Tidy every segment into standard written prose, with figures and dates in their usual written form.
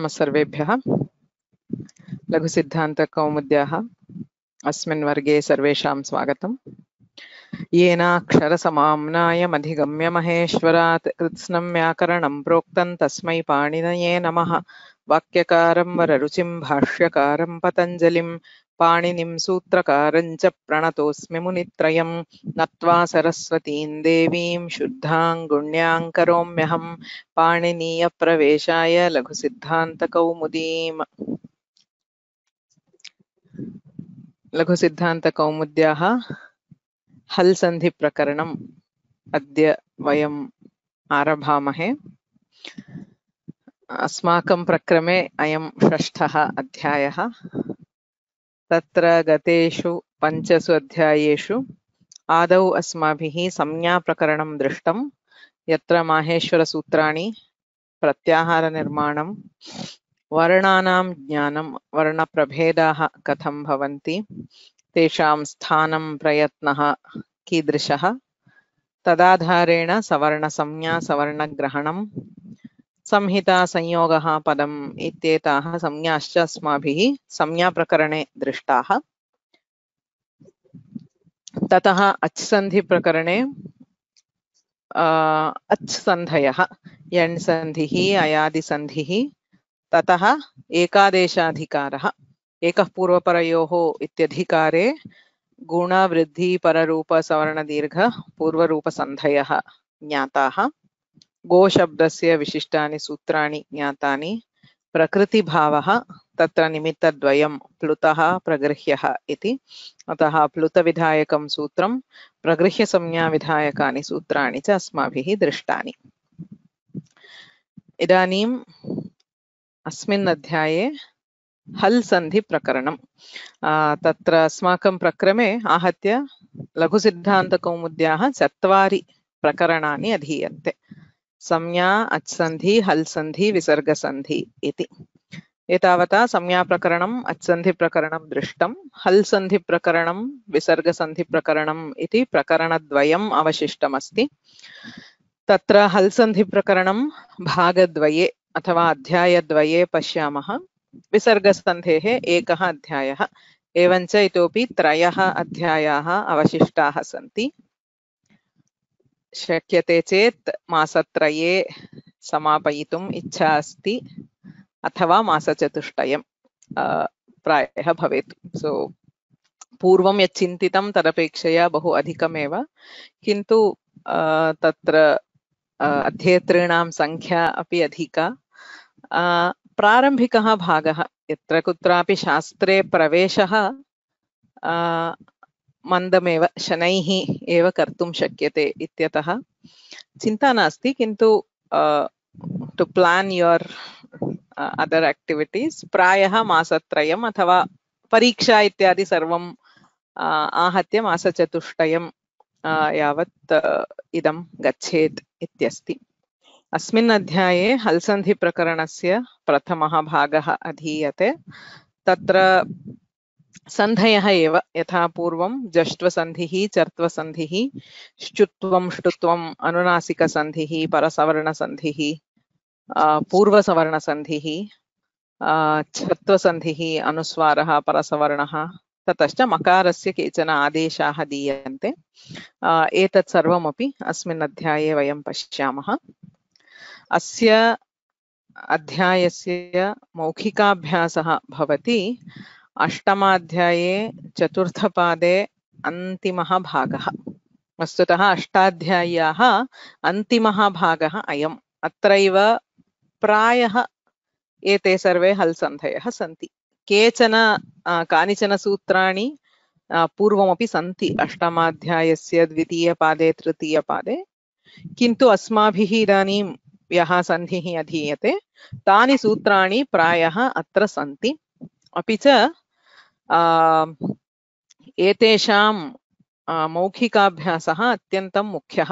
नमः सर्वेभ्यः। लघुसिद्धान्तकौमुद्याः अस्मिन् वर्गे सर्वेषां स्वागतम्। येनाक्षरसमाम्नायमधिगम्य महेश्वरात् कृत्स्नं व्याकरणं प्रोक्तं तस्मै पाणिनये नमः। वाक्यकारं वररुचिं भाष्यकारं पतञ्जलिं पाणिनिं सूत्रकारं च प्रणतोऽस्मि मुनित्रयं। नत्वा सरस्वतीं देवीं शुद्धां गुण्यां करोम्यहं पाणिनीयप्रवेशाय लघुसिद्धान्तकौमुदीम्। लघुसिद्धान्तकौमुद्याः हल् सन्धि प्रकरणम् अद्य वयम् आरभामहे। अस्माकं प्रक्रमे अयं षष्ठः अध्यायः। तत्र गतेषु 5 अध्यायेषु आदौ अस्माभिः संज्ञाप्रकरणं दृष्टं, यत्र माहेश्वरसूत्राणि, प्रत्याहारनिर्माणं, वर्णानां ज्ञानं, वर्णप्रभेदाः कथं भवन्ति, तेषां स्थानं प्रयत्नः कीदृशः, तदाधारेण सवर्णसंज्ञा सवर्णग्रहणं, संहिता संयोगः पदम् इत्येताः संज्ञाश्च अस्माभिः संज्ञाप्रकरणे दृष्टाः। ततः अच्सन्धिप्रकरणे अच्सन्धयः, यण्सन्धिः, अयादिसन्धिः, ततः एकादेशाधिकारः, एकः पूर्वपरयोः इत्यधिकारे गुणवृद्धि पररूप सवर्णदीर्घ पूर्वरूपसन्धयः ज्ञाताः। गोशब्दस्य विशिष्टानि सूत्राणि ज्ञातानि। प्रकृतिभावः, तत्र निमित्तद्वयं प्लुतः प्रगृह्यः इति, अतः प्लुतविधायकं सूत्रं, प्रगृह्यसंज्ञाविधायकानि सूत्राणि च अस्माभिः दृष्टानि। इदानीम् अस्मिन् अध्याये हल् सन्धि प्रकरणं। तत्र अस्माकं प्रक्रमे आहत्य लघुसिद्धान्तकौमुद्याः 4 प्रकरणानि अधीयन्ते। संज्ञा, अच्सन्धि, हल् सन्धि, विसर्गसन्धि इति। एतावता संज्ञाप्रकरणम्, अच्सन्धिप्रकरणं दृष्टं। हल् सन्धिप्रकरणं, विसर्गसन्धिप्रकरणम् इति प्रकरणद्वयम् अवशिष्टमस्ति। तत्र हल् सन्धिप्रकरणं भागद्वये अथवा अध्यायद्वये पश्यामः। विसर्गसन्धेः एकः अध्यायः, एवञ्च इतोपि 3 अध्यायाः अवशिष्टाः सन्ति। शक्यते चेत् मासत्रये समापयितुम् इच्छा अस्ति, अथवा मासचतुष्टयं प्रायः भवेत्। सो पूर्वं यत् चिन्तितं तदपेक्षया बहु अधिकमेव, किन्तु तत्र अध्येतॄणां संख्या अपि अधिका। प्रारम्भिकः भागः, यत्र कुत्रापि शास्त्रे प्रवेशः मन्दमेव, शनैः एव कर्तुं शक्यते इत्यतः चिन्ता नास्ति, किन्तु to plan your other activities प्रायः मासत्रयम् अथवा परीक्षा इत्यादि सर्वम् आहत्य मासचतुष्टयं यावत् इदं गच्छेत् इत्यस्ति। अस्मिन् अध्याये हल् सन्धि प्रकरणस्य प्रथमः भागः अधीयते। तत्र सन्धयः एव यथा पूर्वं जष्ट्वसन्धिः, चर्त्वसन्धिः, श्चुत्वं, ष्टुत्वम्, अनुनासिकसन्धिः, परसवर्णसन्धिः, पूर्वसवर्णसन्धिः, छत्वसन्धिः, अनुस्वारः, परसवर्णः, ततश्च मकारस्य केचन आदेशाः दीयन्ते। एतत् सर्वमपि अस्मिन् अध्याये वयं पश्यामः। अस्य अध्यायस्य मौखिकाभ्यासः भवति अष्टमाध्याये चतुर्थपादे अन्तिमः भागः। वस्तुतः अष्टाध्याय्याः अन्तिमः भागः अयम्। अत्रैव प्रायः एते सर्वे हल् सन्धयः सन्ति। कानिचन सूत्राणि पूर्वमपि सन्ति अष्टमाध्यायस्य द्वितीयपादे तृतीयपादे, किन्तु अस्माभिः इदानीं यः सन्धिः अधीयते तानि सूत्राणि प्रायः अत्र सन्ति। अपि च एतेषां मौखिकाभ्यासः अत्यन्तं मुख्यः।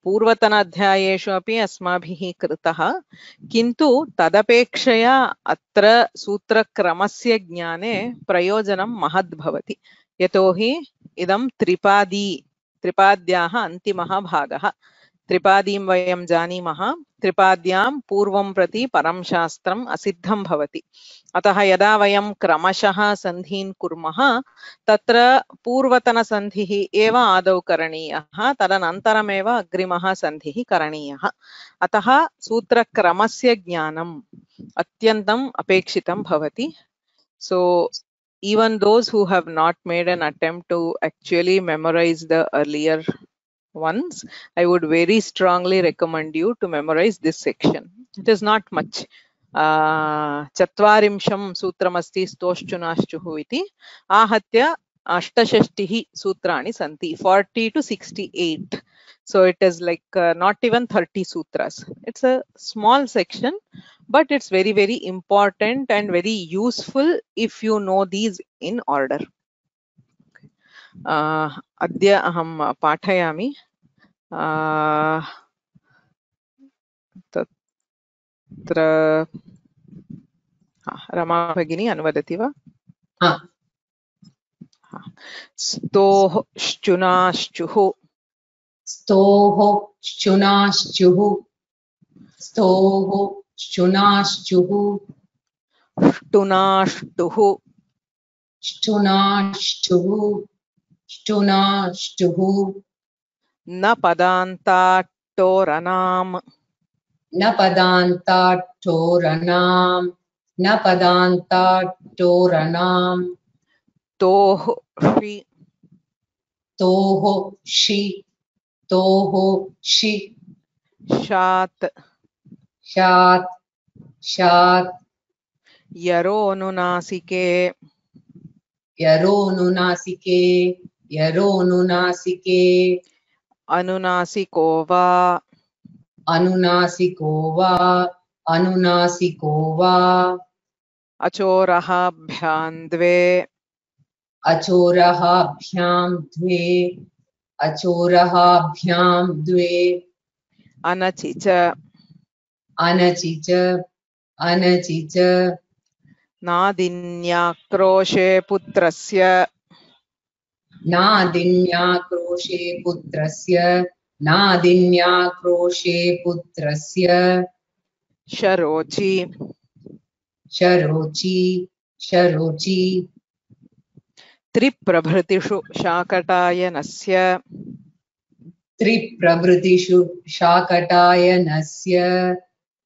पूर्वतनाध्यायेषु अपि अस्माभिः कृतः, किन्तु तदपेक्षया अत्र सूत्रक्रमस्य ज्ञाने प्रयोजनं महद् भवति, यतोहि इदं त्रिपाद्याः अन्तिमः भागः। त्रिपादीं वयं जानीमः त्रिपाद्यां पूर्वं प्रति परं शास्त्रम् असिद्धं भवति अतः यदा वयं क्रमशः सन्धीन् कुर्मः तत्र पूर्वतनसन्धिः एव आदौ करणीयः तदनन्तरमेव अग्रिमः सन्धिः करणीयः अतः सूत्रक्रमस्य ज्ञानम् अत्यन्तम् अपेक्षितं भवति so even those who have not made an attempt to actually memorize the earlier ones, I would very strongly recommend you to memorize this section. It is not much. चत्वारिंशं सूत्रमस्ति स्तोश्चुनाश्चुः इति आहत्य अष्टषष्टिः सूत्राणि सन्ति 40 to 68. So it is like not even 30 sutras. It's a small section, but it's very, very important and very useful if you know these in order. अद्य अहं पाठयामि तत्र रमा भगिनी अनुवदति वा स्तोः श्चुनाश्चुः स्तोः श्चुनाश्चुः स्तोः श्चुनाश्चुः ष्टुनाष्टुः ष्टुनाष्टुः ष्टुनाष्टुः न पदान्ताट्टोरनाम् न पदान्ताट्टोरनाम् न पदान्ताट्टोरनाम् तोः षि तोः षि तोः षि शात् शात् शात् यरोनुनासिके यरोनुनासिके यरोनुनासिके अनुनासिको वा अनुनासिको वा अनुनासिको वा अचोरहाभ्यां द्वे अचोरहाभ्यां द्वे अचोरहाभ्यां द्वे अनचि च अनचि च अनचि च नादिन्याक्रोशे पुत्रस्य नादिन्याक्रोशे पुत्रस्य नादिन्याक्रोशे पुत्रस्य शरोचि शरोचि शरोचि त्रिप्रभृतिषु शाकटायनस्य त्रिप्रभृतिषु शाकटायनस्य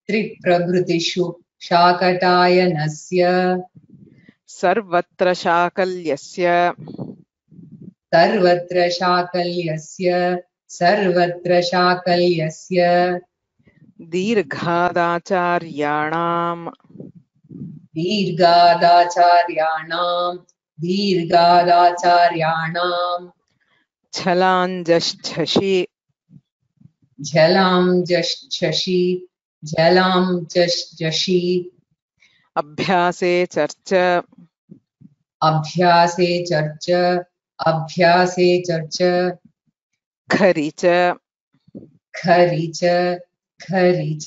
त्रिप्रभृतिषु शाकटायनस्य सर्वत्र शाकल्यस्य सर्वत्र शाकल्यस्य सर्वत्र शाकल्यस्य दीर्घादाचार्याणां दीर्घादाचार्याणां दीर्घादाचार्याणां झलाञ्जश्झषि झलां जश्चषि झलां जश्चषि अभ्यासे चर्च अभ्यासे चर्च अभ्यासे चर्च खरि च खरि च खरि च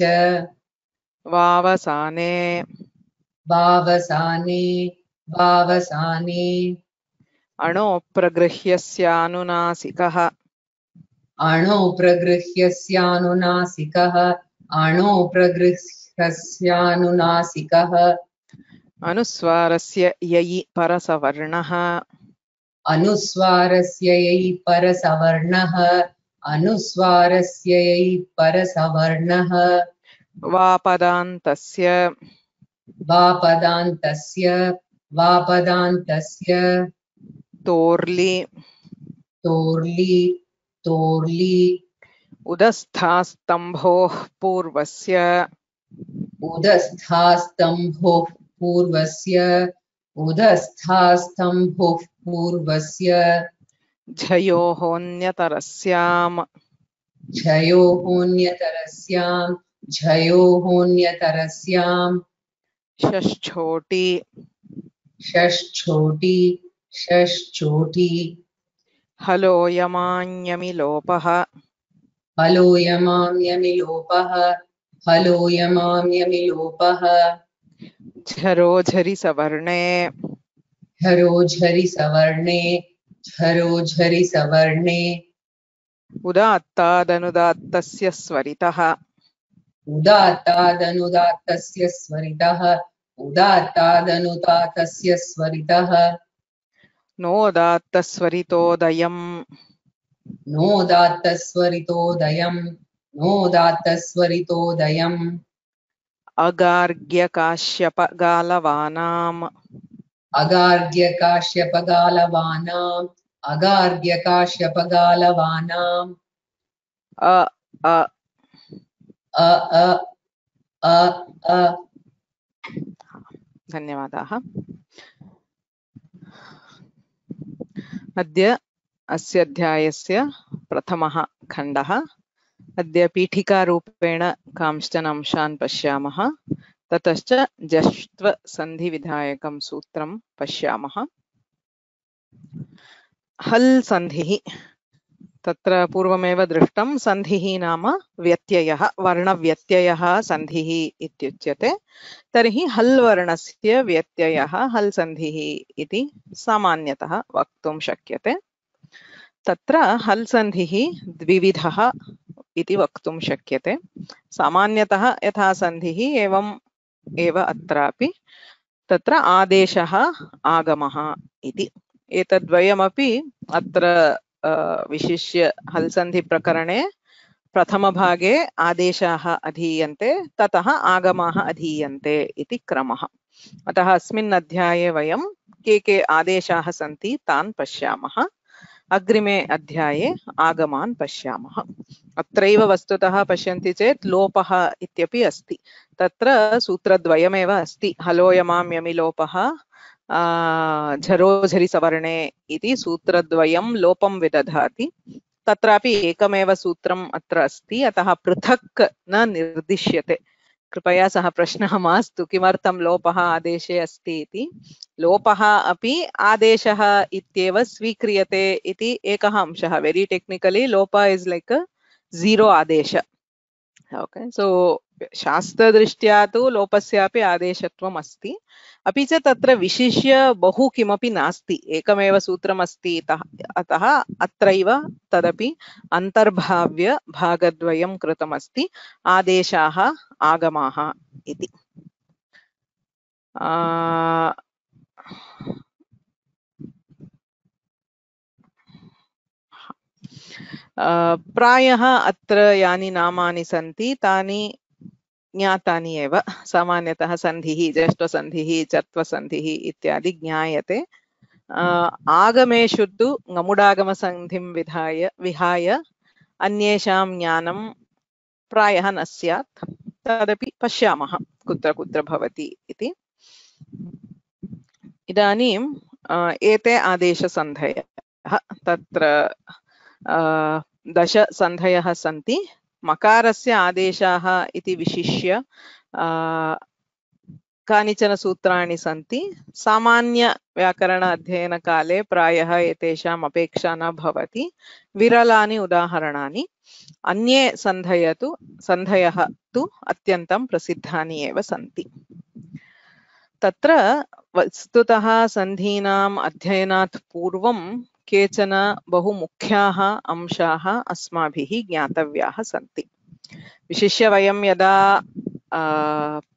वावसाने वावसाने वावसाने अणोप्रगृह्यस्यानुनासिकः अणोप्रगृह्यस्यानुनासिकः अणोप्रगृह्यस्यानुनासिकः अनुस्वारस्य ययि परसवर्णः अनुस्वारस्य यै परसवर्णः अनुस्वारस्य यै परसवर्णः वापदान्तस्य वापदान्तस्य वापदान्तस्य तोर्लि तोर्लि तोर्लि उदस्थास्तम्भोः पूर्वस्य उदस्थास्तम्भोः पूर्वस्य उदस्थास्तम्भोः पूर्वस्य झयोहोऽन्यतरस्याम् झयोहोऽन्यतरस्यां झयोहोऽन्यतरस्यां षष्ठोटि षष्ठोटि षष्ठोटि हलोयमान्यमिलोपः हलोयमाम्यमिलोपः हलोयमाम्यमिलोपः झरोझरि सवर्णे झरोझरि सवर्णे झरोझरि सवर्णे उदात्तादनुदात्तस्य स्वरितः उदात्तादनुदात्तस्य स्वरितः उदात्तादनुदात्तस्य स्वरितः नोदात्तस्वरितोदयम् नोदात्तस्वरितोदयम् नोदात्तस्वरितोदयम् अगार्ग्यकाश्यपगालवानाम् अगार्ग्यकाश्यपगालवानाम् अगार्ग्यकाश्यपगालवानाम् अ अ अ अ अ अ धन्यवादाः। अद्य अस्य अध्यायस्य प्रथमः खण्डः। अद्य पीठिकारूपेण कांश्चन अंशान् पश्यामः, ततश्च जष्ट्वसन्धिविधायकं सूत्रं पश्यामः। हल् सन्धिः, तत्र पूर्वमेव दृष्टं। सन्धिः नाम व्यत्ययः, वर्णव्यत्ययः सन्धिः इत्युच्यते। तर्हि हल् वर्णस्य व्यत्ययः हल् सन्धिः इति सामान्यतः वक्तुं शक्यते। तत्र हल् सन्धिः द्विविधः इति वक्तुं शक्यते। सामान्यतः यथा सन्धिः एवम् एव अत्रापि। तत्र आदेशः आगमः इति, एतद्वयमपि अत्र विशिष्य हल् सन्धि प्रकरणे प्रथमभागे आदेशाः अधीयन्ते, ततः आगमाः अधीयन्ते इति क्रमः। अतः अस्मिन् अध्याये वयं के आदेशाः सन्ति तान् पश्यामः। अग्रिमे अध्याये आगमान् पश्यामः। अत्रैव वस्तुतः पश्यन्ति चेत् लोपः इत्यपि अस्ति। तत्र सूत्रद्वयमेव अस्ति। हलोयमां यमिलोपः झरोझरि सवर्णे इति सूत्रद्वयं लोपं विदधाति। तत्रापि एकमेव सूत्रम् अत्र अस्ति, अतः पृथक् न निर्दिश्यते। कृपया सः प्रश्नः मास्तु किमर्थं लोपः आदेशे अस्ति इति। लोपः अपि आदेशः इत्येव स्वीक्रियते इति एकः अंशः। वेरी टेक्निकली लोप इस् लाइक अ जीरो आदेश। ओके, सो शास्त्रदृष्ट्या तु लोपस्यापि आदेशत्वम् अस्ति। अपि च तत्र विशिष्य बहु किमपि नास्ति, एकमेव सूत्रमस्ति। अतः अत्रैव तदपि अन्तर्भाव्य भागद्वयं कृतमस्ति, आदेशाः आगमाः इति। प्रायः अत्र यानि नामानि सन्ति तानि ज्ञातानि एव। सामान्यतः सन्धिः, ज्येष्ठसन्धिः, चत्वसन्धिः इत्यादि ज्ञायते। आगमेषु तु ngमुडागमसन्धिं विहाय अन्येषां ज्ञानं प्रायः न स्यात्। तदपि पश्यामः कुत्र कुत्र भवति इति। इदानीं एते आदेशसन्धयः, तत्र 10 सन्धयः सन्ति। मकारस्य आदेशाः इति विशिष्य कानिचन सूत्राणि सन्ति। सामान्य व्याकरण अध्ययनकाले प्रायः एतेषाम् अपेक्षा न भवति। विरलानि उदाहरणानि। अन्ये सन्धयः तु अत्यन्तं प्रसिद्धानि एव सन्ति। तत्र वस्तुतः सन्धीनाम् अध्ययनात् पूर्वं केचन बहु मुख्याः अंशाः अस्माभिः ज्ञातव्याः सन्ति। विशिष्य वयं यदा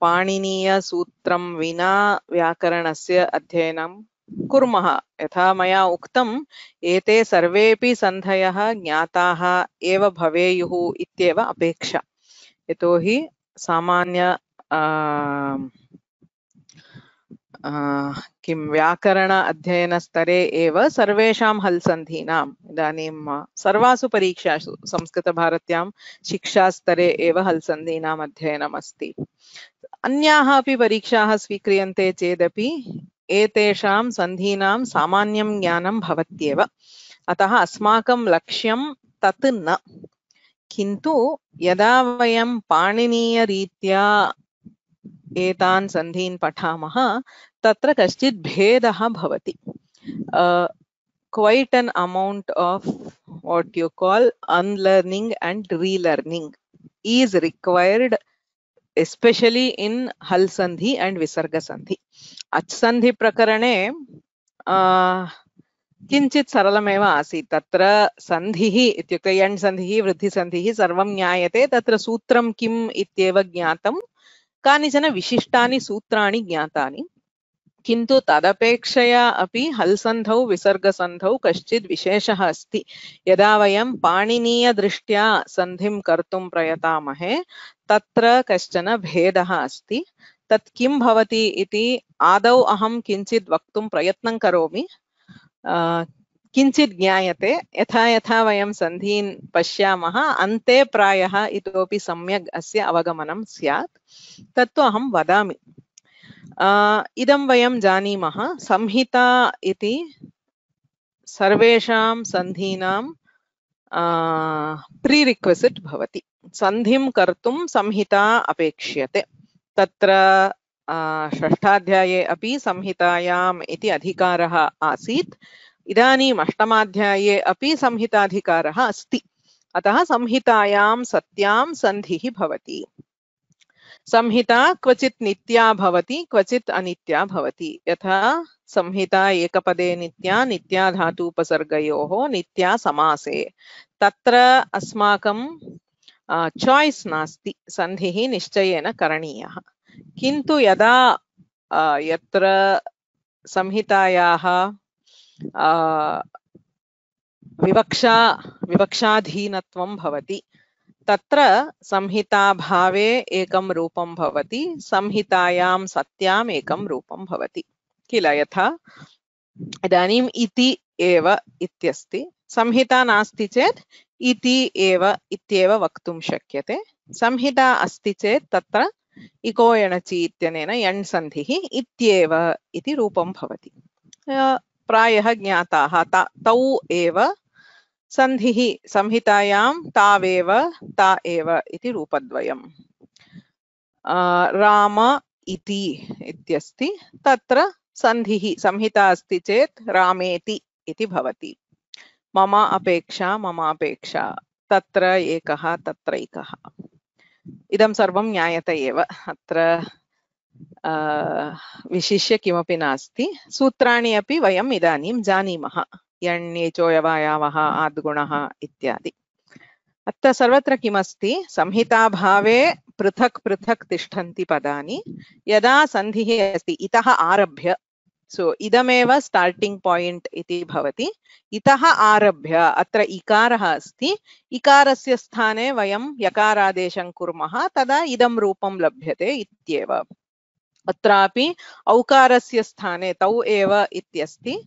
पाणिनीयसूत्रं विना व्याकरणस्य अध्ययनं कुर्मः, यथा मया उक्तम्, एते सर्वेपि सन्धयः ज्ञाताः एव भवेयुः इत्येव अपेक्षा। यतोहि सामान्य किं व्याकरण अध्ययनस्तरे एव सर्वेषां हल् सन्धीनाम्, इदानीं सर्वासु परीक्षासु संस्कृतभारत्यां शिक्षास्तरे एव हल् सन्धीनाम् अध्ययनम् अस्ति। अन्याः अपि परीक्षाः स्वीक्रियन्ते चेदपि एतेषां सन्धीनां सामान्यं ज्ञानं भवत्येव। अतः अस्माकं लक्ष्यं तत् न। किन्तु यदा वयं पाणिनीयरीत्या एतान् सन्धीन् पठामः, तत्र कश्चित् भेदः भवति। Quite an amount of what you call unlearning and relearning is required, especially in hal sandhi and visarga sandhi. Ach sandhi prakarane किञ्चित् सरलमेव आसीत् तत्र सन्धिः इत्युक्ते यण् सन्धिः वृद्धिसन्धिः सर्वं ज्ञायते तत्र सूत्रं किम् इत्येव ज्ञातं कानिचन विशिष्टानि सूत्राणि ज्ञातानि किन्तु तदपेक्षया अपि हल्सन्धौ विसर्गसन्धौ कश्चित् विशेषः अस्ति यदा वयं पाणिनीयदृष्ट्या सन्धिं कर्तुं प्रयतामहे तत्र कश्चन भेदः अस्ति तत् किं भवति इति आदौ अहं किञ्चित् वक्तुं प्रयत्नं करोमि किञ्चित् ज्ञायते यथा यथा वयं सन्धीन् पश्यामः अन्ते प्रायः इतोपि सम्यक् अस्य अवगमनं स्यात् तत्तु अहं वदामि इदं वयं जानीमः संहिता इति सर्वेषां सन्धीनां प्रीरिक्विसिट् भवति सन्धिं कर्तुं संहिता अपेक्ष्यते तत्र षष्ठाध्याये अपि संहितायाम् इति अधिकारः आसीत् इदानीम् अष्टमाध्याये अपि संहिताधिकारः अस्ति अतः संहितायां सत्यां सन्धिः भवति संहिता क्वचित् नित्या भवति क्वचित् अनित्या भवति यथा संहिता एकपदे नित्या नित्या धातुपसर्गयोः नित्या समासे तत्र अस्माकं चॉइस नास्ति सन्धिः निश्चयेन करणीयः किन्तु यदा यत्र संहितायाः विवक्षाधीनत्वं भवति तत्र संहिताभावे एकं रूपं भवति संहितायां सत्याम् एकं रूपं भवति किल यथा इदानीम् इति एव इत्यस्ति संहिता नास्ति चेत् इति एव इत्येव वक्तुं शक्यते संहिता अस्ति चेत् तत्र इको एणचि इत्यनेन यण् सन्धिः इत्येव इति रूपं भवति प्रायः ज्ञाताः तौ एव सन्धिः संहितायां तावेव ता एव इति रूपद्वयम् राम इति इत्यस्ति तत्र सन्धिः संहिता अस्ति चेत् रामेति इति भवति मम अपेक्षा तत्र एकः तत्रैकः इदं सर्वं ज्ञायते एव अत्र विशिष्य किमपि नास्ति सूत्राणि अपि वयम् इदानीं जानीमः यण्येचोयवायावः आद्गुणः इत्यादि अत्र सर्वत्र किमस्ति संहिताभावे पृथक् पृथक् तिष्ठन्ति पदानि यदा सन्धिः अस्ति इतः आरभ्य सो इदमेव स्टार्टिंग पॉइंट इति भवति इतः आरभ्य अत्र इकारः अस्ति इकारस्य स्थाने वयं यकारादेशं कुर्मः तदा इदं रूपं लभ्यते इत्येव अत्रापि औकारस्य स्थाने तौ एव इत्यस्ति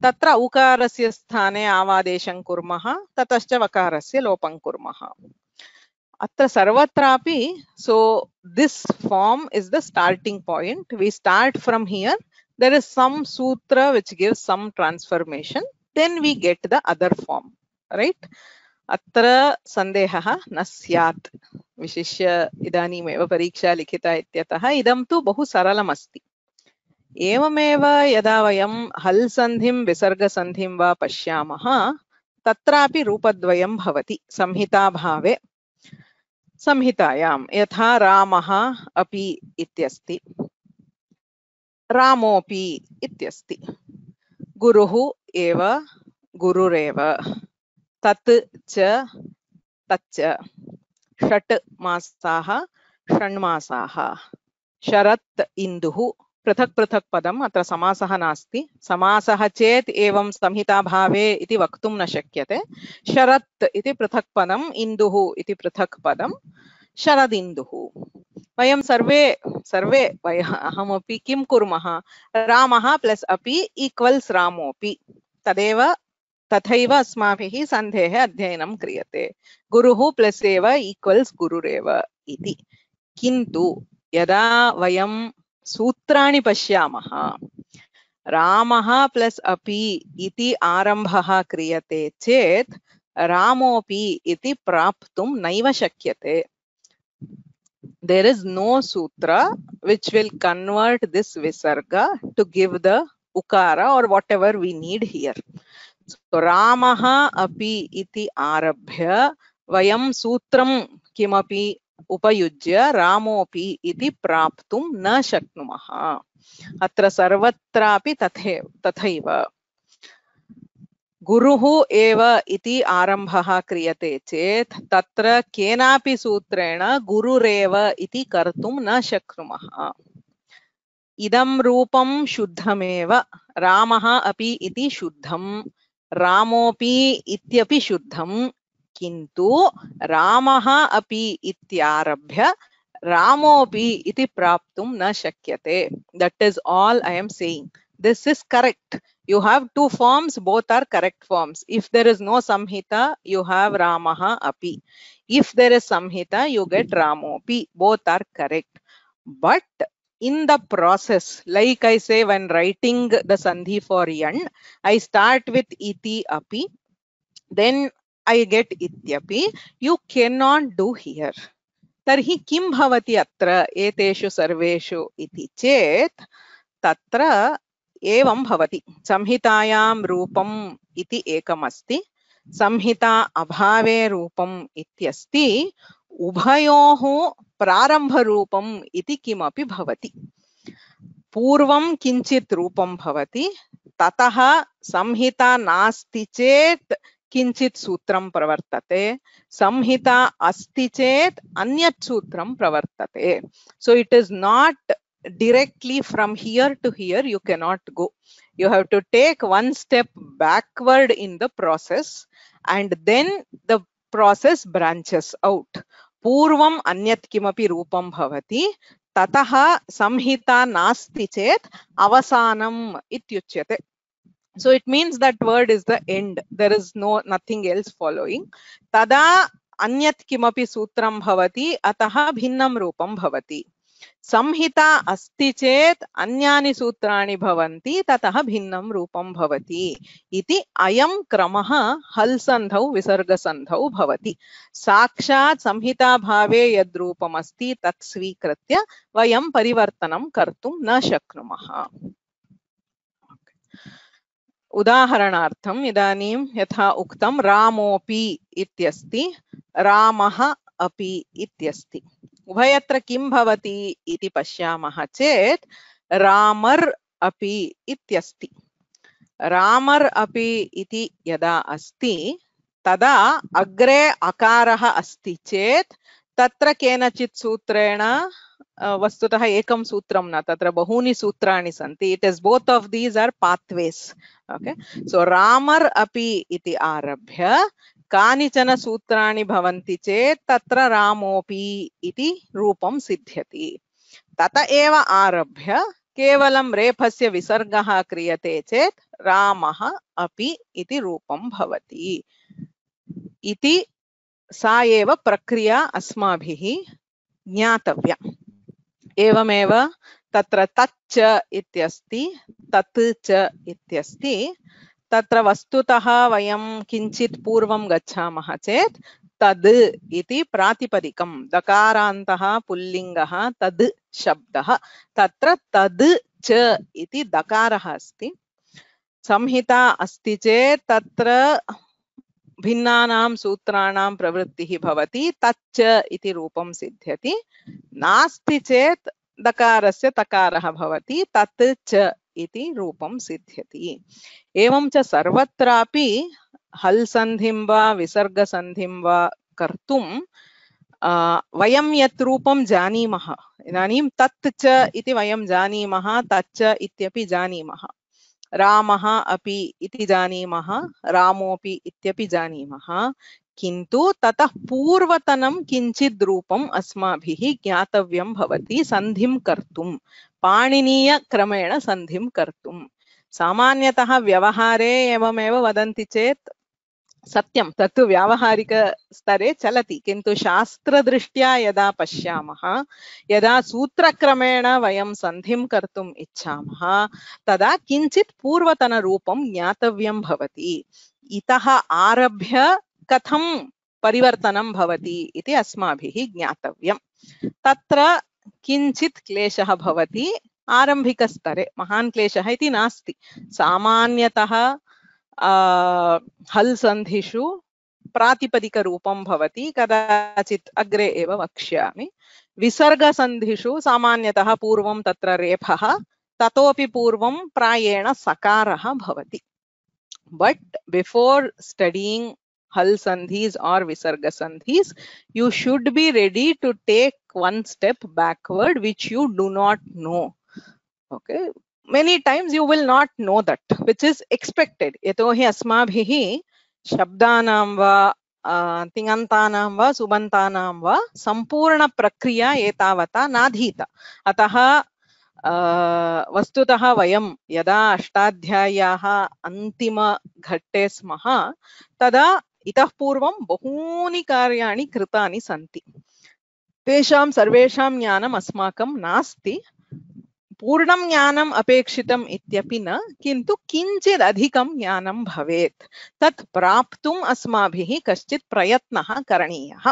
तत्र औकारस्य स्थाने आवादेशं कुर्मः ततश्च वकारस्य लोपं कुर्मः अत्र सर्वत्रापि so this form is the starting point we start from here there is some sutra which gives some transformation then we get the other form right अत्र सन्देहः न स्यात् विशिष्य इदानीमेव परीक्षा लिखिता इत्यतः इदं तु बहु सरलम् अस्ति एवमेव यदा वयं हल् सन्धिं विसर्गसन्धिं वा पश्यामः तत्रापि रूपद्वयं भवति संहिताभावे संहितायां यथा रामः अपि इत्यस्ति रामोऽपि इत्यस्ति गुरुः एव गुरुरेव तत् च तच्च षट् मासाः षण्मासाः शरत् इन्दुः पृथक् पृथक् पदम् अत्र समासः नास्ति समासः चेत् एवं संहिताभावे इति वक्तुं न शक्यते शरत् इति पृथक् पदम् इन्दुः इति पृथक् पदं शरदिन्दुः वयं सर्वे अहमपि किं कुर्मः रामः प्लस् अपि ईक्वल्स् रामोऽपि तथैव अस्माभिः सन्धेः अध्ययनं क्रियते गुरुः प्लस् एव ईक्वल्स् गुरुरेव इति किन्तु यदा वयं सूत्राणि पश्यामः रामः प्लस् अपि इति आरम्भः क्रियते चेत् रामोऽपि इति प्राप्तुं नैव शक्यते there is no sutra which will convert this visarga to give the ukara or whatever we need here so ramaha api iti arabhya vayam sutram kimapi उपयुज्य रामोऽपि इति प्राप्तुं न शक्नुमः अत्र सर्वत्रापि तथैव गुरुः एव इति आरम्भः क्रियते चेत् तत्र केनापि सूत्रेण गुरुरेव इति कर्तुं न शक्नुमः। इदं रूपं शुद्धमेव, रामः अपि इति शुद्धं, रामोऽपि इत्यपि शुद्धं, किन्तु रामः अपि इत्यारभ्य रामोऽपि इति प्राप्तुं न शक्यते. That is all I am saying. This is correct. You have two forms, both are correct forms. If there is no samhita, you have Ramaha api. If there is samhita, you get Ramopi. Both are correct. But in the process, like I say, when writing the sandhi for yan, I start with iti api, then I get ityapi. You cannot do here. तर्हि किं भवति अत्र एतेषु सर्वेषु इति चेत् तत्र एवं भवति। संहितायां रूपम् इति एकमस्ति, संहिता अभावे रूपम् इत्यस्ति, उभयोः प्रारम्भरूपम् इति किमपि भवति। पूर्वं किञ्चित् रूपं भवति, ततः संहिता नास्ति चेत् किञ्चित् सूत्रं प्रवर्तते, संहिता अस्ति चेत् अन्यत् सूत्रं प्रवर्तते. So it is not directly from here to here, you cannot go. You have to take one step backward in the process and then the process branches out. पूर्वम् अन्यत् किमपि रूपं भवति, ततः संहिता नास्ति चेत् अवसानम् इत्युच्यते. So it means that word is the end. There is nothing else following. Tada anyat kimapi sutram bhavati, ataha bhinnam rupam bhavati. Samhita asti chet anyani sutrani bhavanti, tataha bhinnam rupam bhavati. Iti ayam kramaha hal sandhau visarga sandhau bhavati. Sakshat samhita bhave yad rupam asti tat svikritya vayam parivartanam kartum na shaknumaha. उदाहरणार्थम् इदानीं यथा उक्तं रामोऽपि इत्यस्ति, रामः अपि इत्यस्ति। उभयत्र किं भवति इति पश्यामः चेत् रामर् अपि इत्यस्ति। रामर् अपि इति यदा अस्ति तदा अग्रे अकारः अस्ति चेत् तत्र केनचित् सूत्रेण वस्तुतः एकं सूत्रं न, तत्र बहूनि सूत्राणि सन्ति. It is both of these are pathways. Okay, so grammar अपि इति आरभ्य कानिचन सूत्राणि भवन्ति चेत् तत्र रामोऽपि इति रूपं सिद्ध्यति. तत एव आरभ्य केवलं रेफस्य विसर्गः क्रियते चेत् रामः अपि इति रूपं भवति इति सा एव प्रक्रिया अस्माभिः ज्ञातव्या. एवमेव तत्र तच्च इत्यस्ति, तत् च इत्यस्ति. तत्र वस्तुतः वयं किञ्चित् पूर्वं गच्छामः चेत् तद् इति प्रातिपदिकं, दकारान्तः पुल्लिङ्गः तद् शब्दः, तत्र तद् च इति दकारः अस्ति. संहिता अस्ति चेत् तत्र भिन्नानां सूत्राणां प्रवृत्तिः भवति, तच्च इति रूपं सिद्ध्यति. नास्ति चेत् दकारस्य तकारः भवति, तत् च इति रूपं सिद्ध्यति. एवं च सर्वत्रापि हल् सन्धिं वा विसर्ग सन्धिं वा कर्तुं वयं यत् रूपं जानीमः, इदानीं तत् च इति वयं जानीमः, तच्च इत्यपि जानीमः, रामः अपि इति जानीमः, रामोऽपि इत्यपि जानीमः, किन्तु ततः पूर्वतनं किञ्चित् रूपम् अस्माभिः ज्ञातव्यं भवति सन्धिं कर्तुं, पाणिनीयक्रमेण सन्धिं कर्तुं. सामान्यतः व्यवहारे एवमेव वदन्ति चेत् सत्यं, तत्तु व्यावहारिकस्तरे चलति, किन्तु शास्त्रदृष्ट्या यदा पश्यामः, यदा सूत्रक्रमेण वयं सन्धिं कर्तुम् इच्छामः, तदा किञ्चित् पूर्वतनरूपं ज्ञातव्यं भवति. इतः आरभ्य कथं परिवर्तनं भवति इति अस्माभिः ज्ञातव्यं. तत्र किञ्चित् क्लेशः भवति आरम्भिकस्तरे, महान् क्लेशः इति नास्ति. सामान्यतः हल् सन्धिषु प्रातिपदिकरूपं भवति, कदाचित् अग्रे एव वक्ष्यामि. विसर्गसन्धिषु सामान्यतः पूर्वं तत्र रेफः, ततोपि पूर्वं प्रायेण सकारः भवति. But before studying hal sandhis or visarga sandhis, you should be ready to take one step backward, which you do not know. Okay, many times you will not know that, which is expected. Yatohi asmabhihi shabdanam va तिङन्तानां वा सुबन्तानां वा सम्पूर्ण प्रक्रिया एतावता नाधीता. अतः वस्तुतः वयं यदा अष्टाध्याय्याः अन्तिमघट्टे स्मः तदा इतः पूर्वं बहूनि कार्याणि कृतानि सन्ति. तेषां सर्वेषां ज्ञानम् अस्माकं नास्ति. पूर्णं ज्ञानम् अपेक्षितम् इत्यपि न, किन्तु किञ्चित् अधिकं ज्ञानं भवेत्. तत् प्राप्तुम् अस्माभिः कश्चित् प्रयत्नः करणीयः.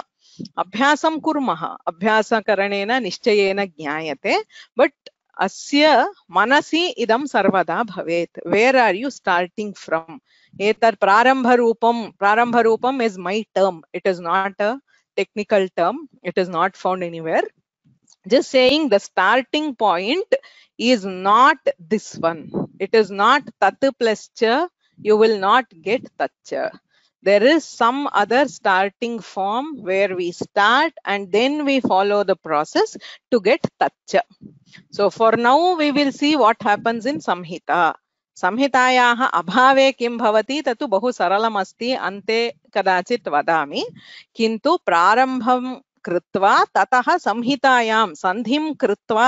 अभ्यासं कुर्मः, अभ्यासकरणेन निश्चयेन ज्ञायते. बट अस्य मनसि इदं सर्वदा भवेत्. Where are you starting from? एतत् प्रारम्भरूपम् is my term. It is not a technical term. It is not found anywhere. Just saying the starting point is not this one. It is not tat plus cha. You will not get tat cha. There is some other starting form where we start and then we follow the process to get tat cha. So for now we will see what happens in Samhita. संहितायाः अभावे किं भवति तत्तु बहु सरलम् अस्ति. अन्ते कदाचित् वदामि. किन्तु प्रारम्भं कृत्वा ततः संहितायां सन्धिं कृत्वा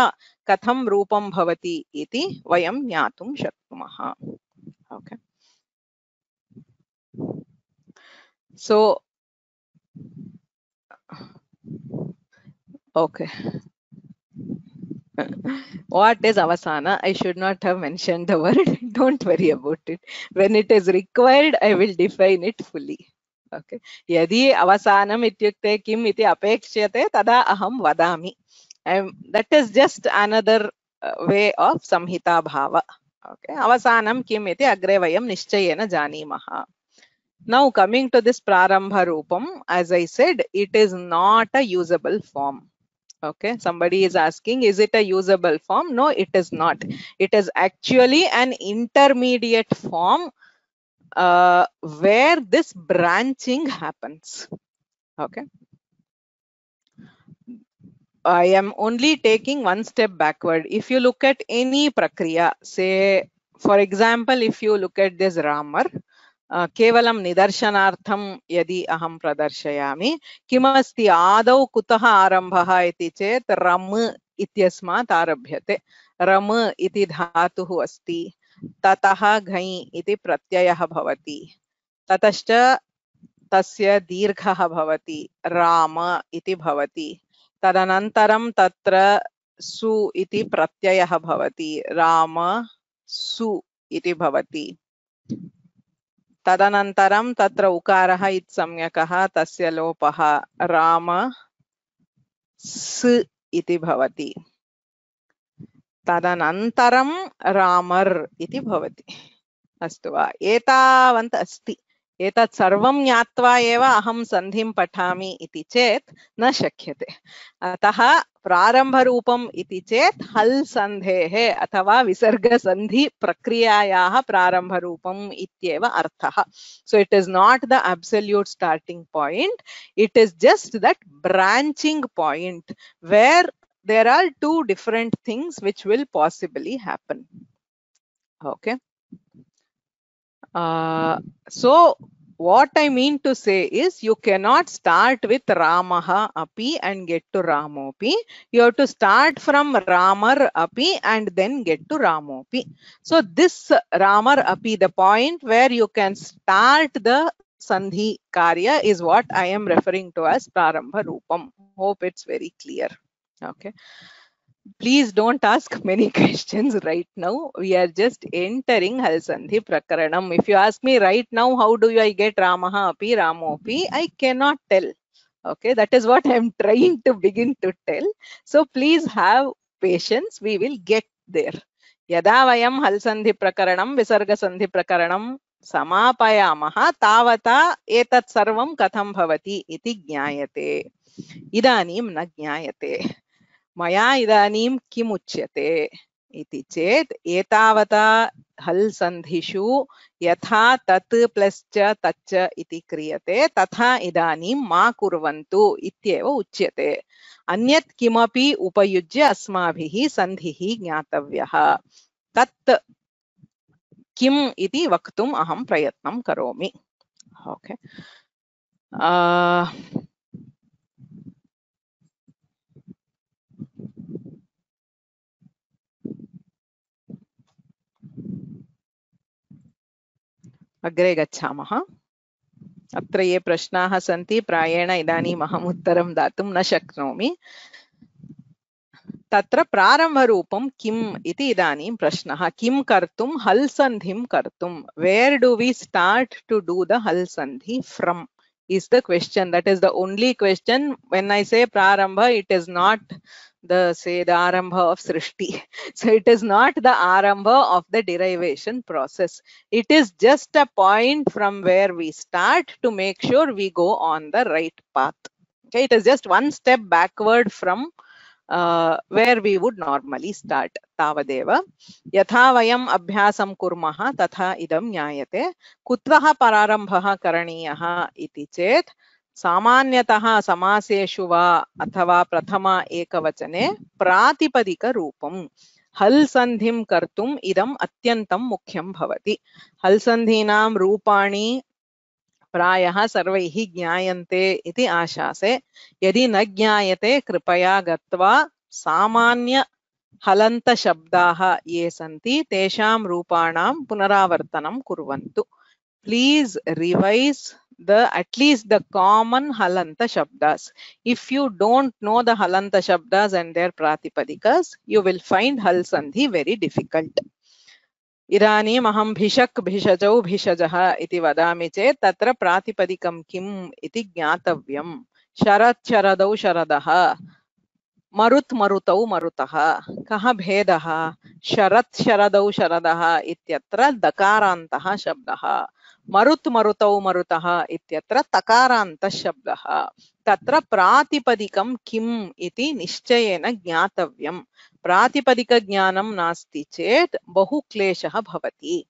कथं रूपं भवति इति वयं ज्ञातुं शक्नुमः. Okay, so okay, what is avasana? I should not have mentioned the word. Don't worry about it. When it is required, I will define it fully. Okay. Yadi avasanam ityukte kim iti apekshyate tada aham vadami. That is just another way of samhita bhava. Okay. Avasanam kim iti agre vayam nishchayena janimaha. Now coming to this prarambha rupam, as I said, it is not a usable form. Okay, somebody is asking, is it a usable form? No, it is not. It is actually an intermediate form where this branching happens. Okay, I am only taking one step backward. If you look at any prakriya, say for example, if you look at this Ramar, केवलं निदर्शनार्थं यदि अहं प्रदर्शयामि, किमस्ति आदौ कुतः आरम्भः इति चेत् रम इत्यस्मात् आरभ्यते. रम इति धातुः अस्ति, ततः घञ् इति प्रत्ययः भवति, ततश्च तस्य दीर्घः भवति, राम इति भवति. तदनन्तरं तत्र सु इति प्रत्ययः भवति, राम सु इति भवति. तदनन्तरं तत्र उकारः इत्संज्ञकः, तस्य लोपः, राम स इति भवति. तदनन्तरं रामर् इति भवति. अस्तु वा? एतावन्त अस्ति. एतत् सर्वं ज्ञात्वा एव अहं सन्धिं पठामि इति चेत् न शक्यते. अतः प्रारम्भरूपम् इति चेत् हल् सन्धेः अथवा विसर्गसन्धि प्रक्रियायाः प्रारम्भरूपम् इत्येव अर्थः. So it is not the absolute starting point. It is just that branching point where there are two different things which will possibly happen. Okay. So what I mean to say is you cannot start with Ramaha api and get to Ramopi. You have to start from Ramar api and then get to Ramopi. So this Ramar api, the point where you can start the Sandhi Karya, is what I am referring to as Prarambha Rupam. Hope it's very clear. Okay. Please don't ask many questions right now. We are just entering Hal Sandhi Prakaranam. If you ask me right now, how do I get Ramaha api, Ramopi, I cannot tell. Okay, that is what I am trying to begin to tell. So please have patience. We will get there. Yada vayam Hal Sandhi Prakaranam, Visarga Sandhi Prakaranam samapayamaha tavata etat sarvam katham bhavati iti jnayate. Idanim na jnayate. Maya idanim kim uchyate. इति चेत् एतावता हल् सन्धिषु यथा तत् plus च तच्च इति क्रियते तथा इदानीं मा कुर्वन्तु इत्येव उच्यते। अन्यत् किमपि उपयुज्य अस्माभिः सन्धिः ज्ञातव्यः। तत् किम् इति वक्तुम् अहं प्रयत्नं करोमि। ओके, अग्रे गच्छामः। अत्र ये प्रश्नाः सन्ति प्रायेण इदानीम् अहम् उत्तरं दातुं न शक्नोमि। तत्र प्रारम्भरूपं किम् इति इदानीं प्रश्नः। किं कर्तुं हल् सन्धिं कर्तुं, where do we start to do the हल् सन्धि from is the question. That is the only question. When I say prarambha, it is not the arambha of srishti. So it is not the arambha of the derivation process. It is just a point from where we start to make sure we go on the right path. Okay, it is just one step backward from where we would normally start. तावदेव यथा वयम् अभ्यासं कुर्मः तथा इदं ज्ञायते। कुतः प्रारम्भः करणीयः इति चेत् सामान्यतः समासेषु वा अथवा प्रथम एकवचने प्रातिपदिकरूपं हल् सन्धिं कर्तुम् इदम् अत्यन्तं मुख्यं भवति। हल् सन्धीनां रूपाणि प्रायः सर्वैः ज्ञायन्ते इति आशासे। यदि न ज्ञायते कृपया गत्वा सामान्य हलन्त शब्दाः ये सन्ति तेषां रूपाणां पुनरावर्तनं कुर्वन्तु। Please revise at least the common halanta shabdas. If you don't know the halanta shabdas and their pratipadikas, you will find hal sandhi very difficult. इदानीम् अहं भिषक् भिषजौ भिषजः इति वदामि चेत् तत्र प्रातिपदिकं किम् इति ज्ञातव्यम्। शरत् शरदौ शरदः, मरुत् मरुतौ मरुतः। कः भेदः? शरत् शरदौ शरदः इत्यत्र दकारान्तः शब्दः, मरुत् मरुतौ मरुतः इत्यत्र तकारान्तः शब्दः। तत्र प्रातिपदिकं किम् इति निश्चयेन ज्ञातव्यम्। प्रातिपदिकज्ञानं नास्ति चेत् बहु क्लेशः भवति।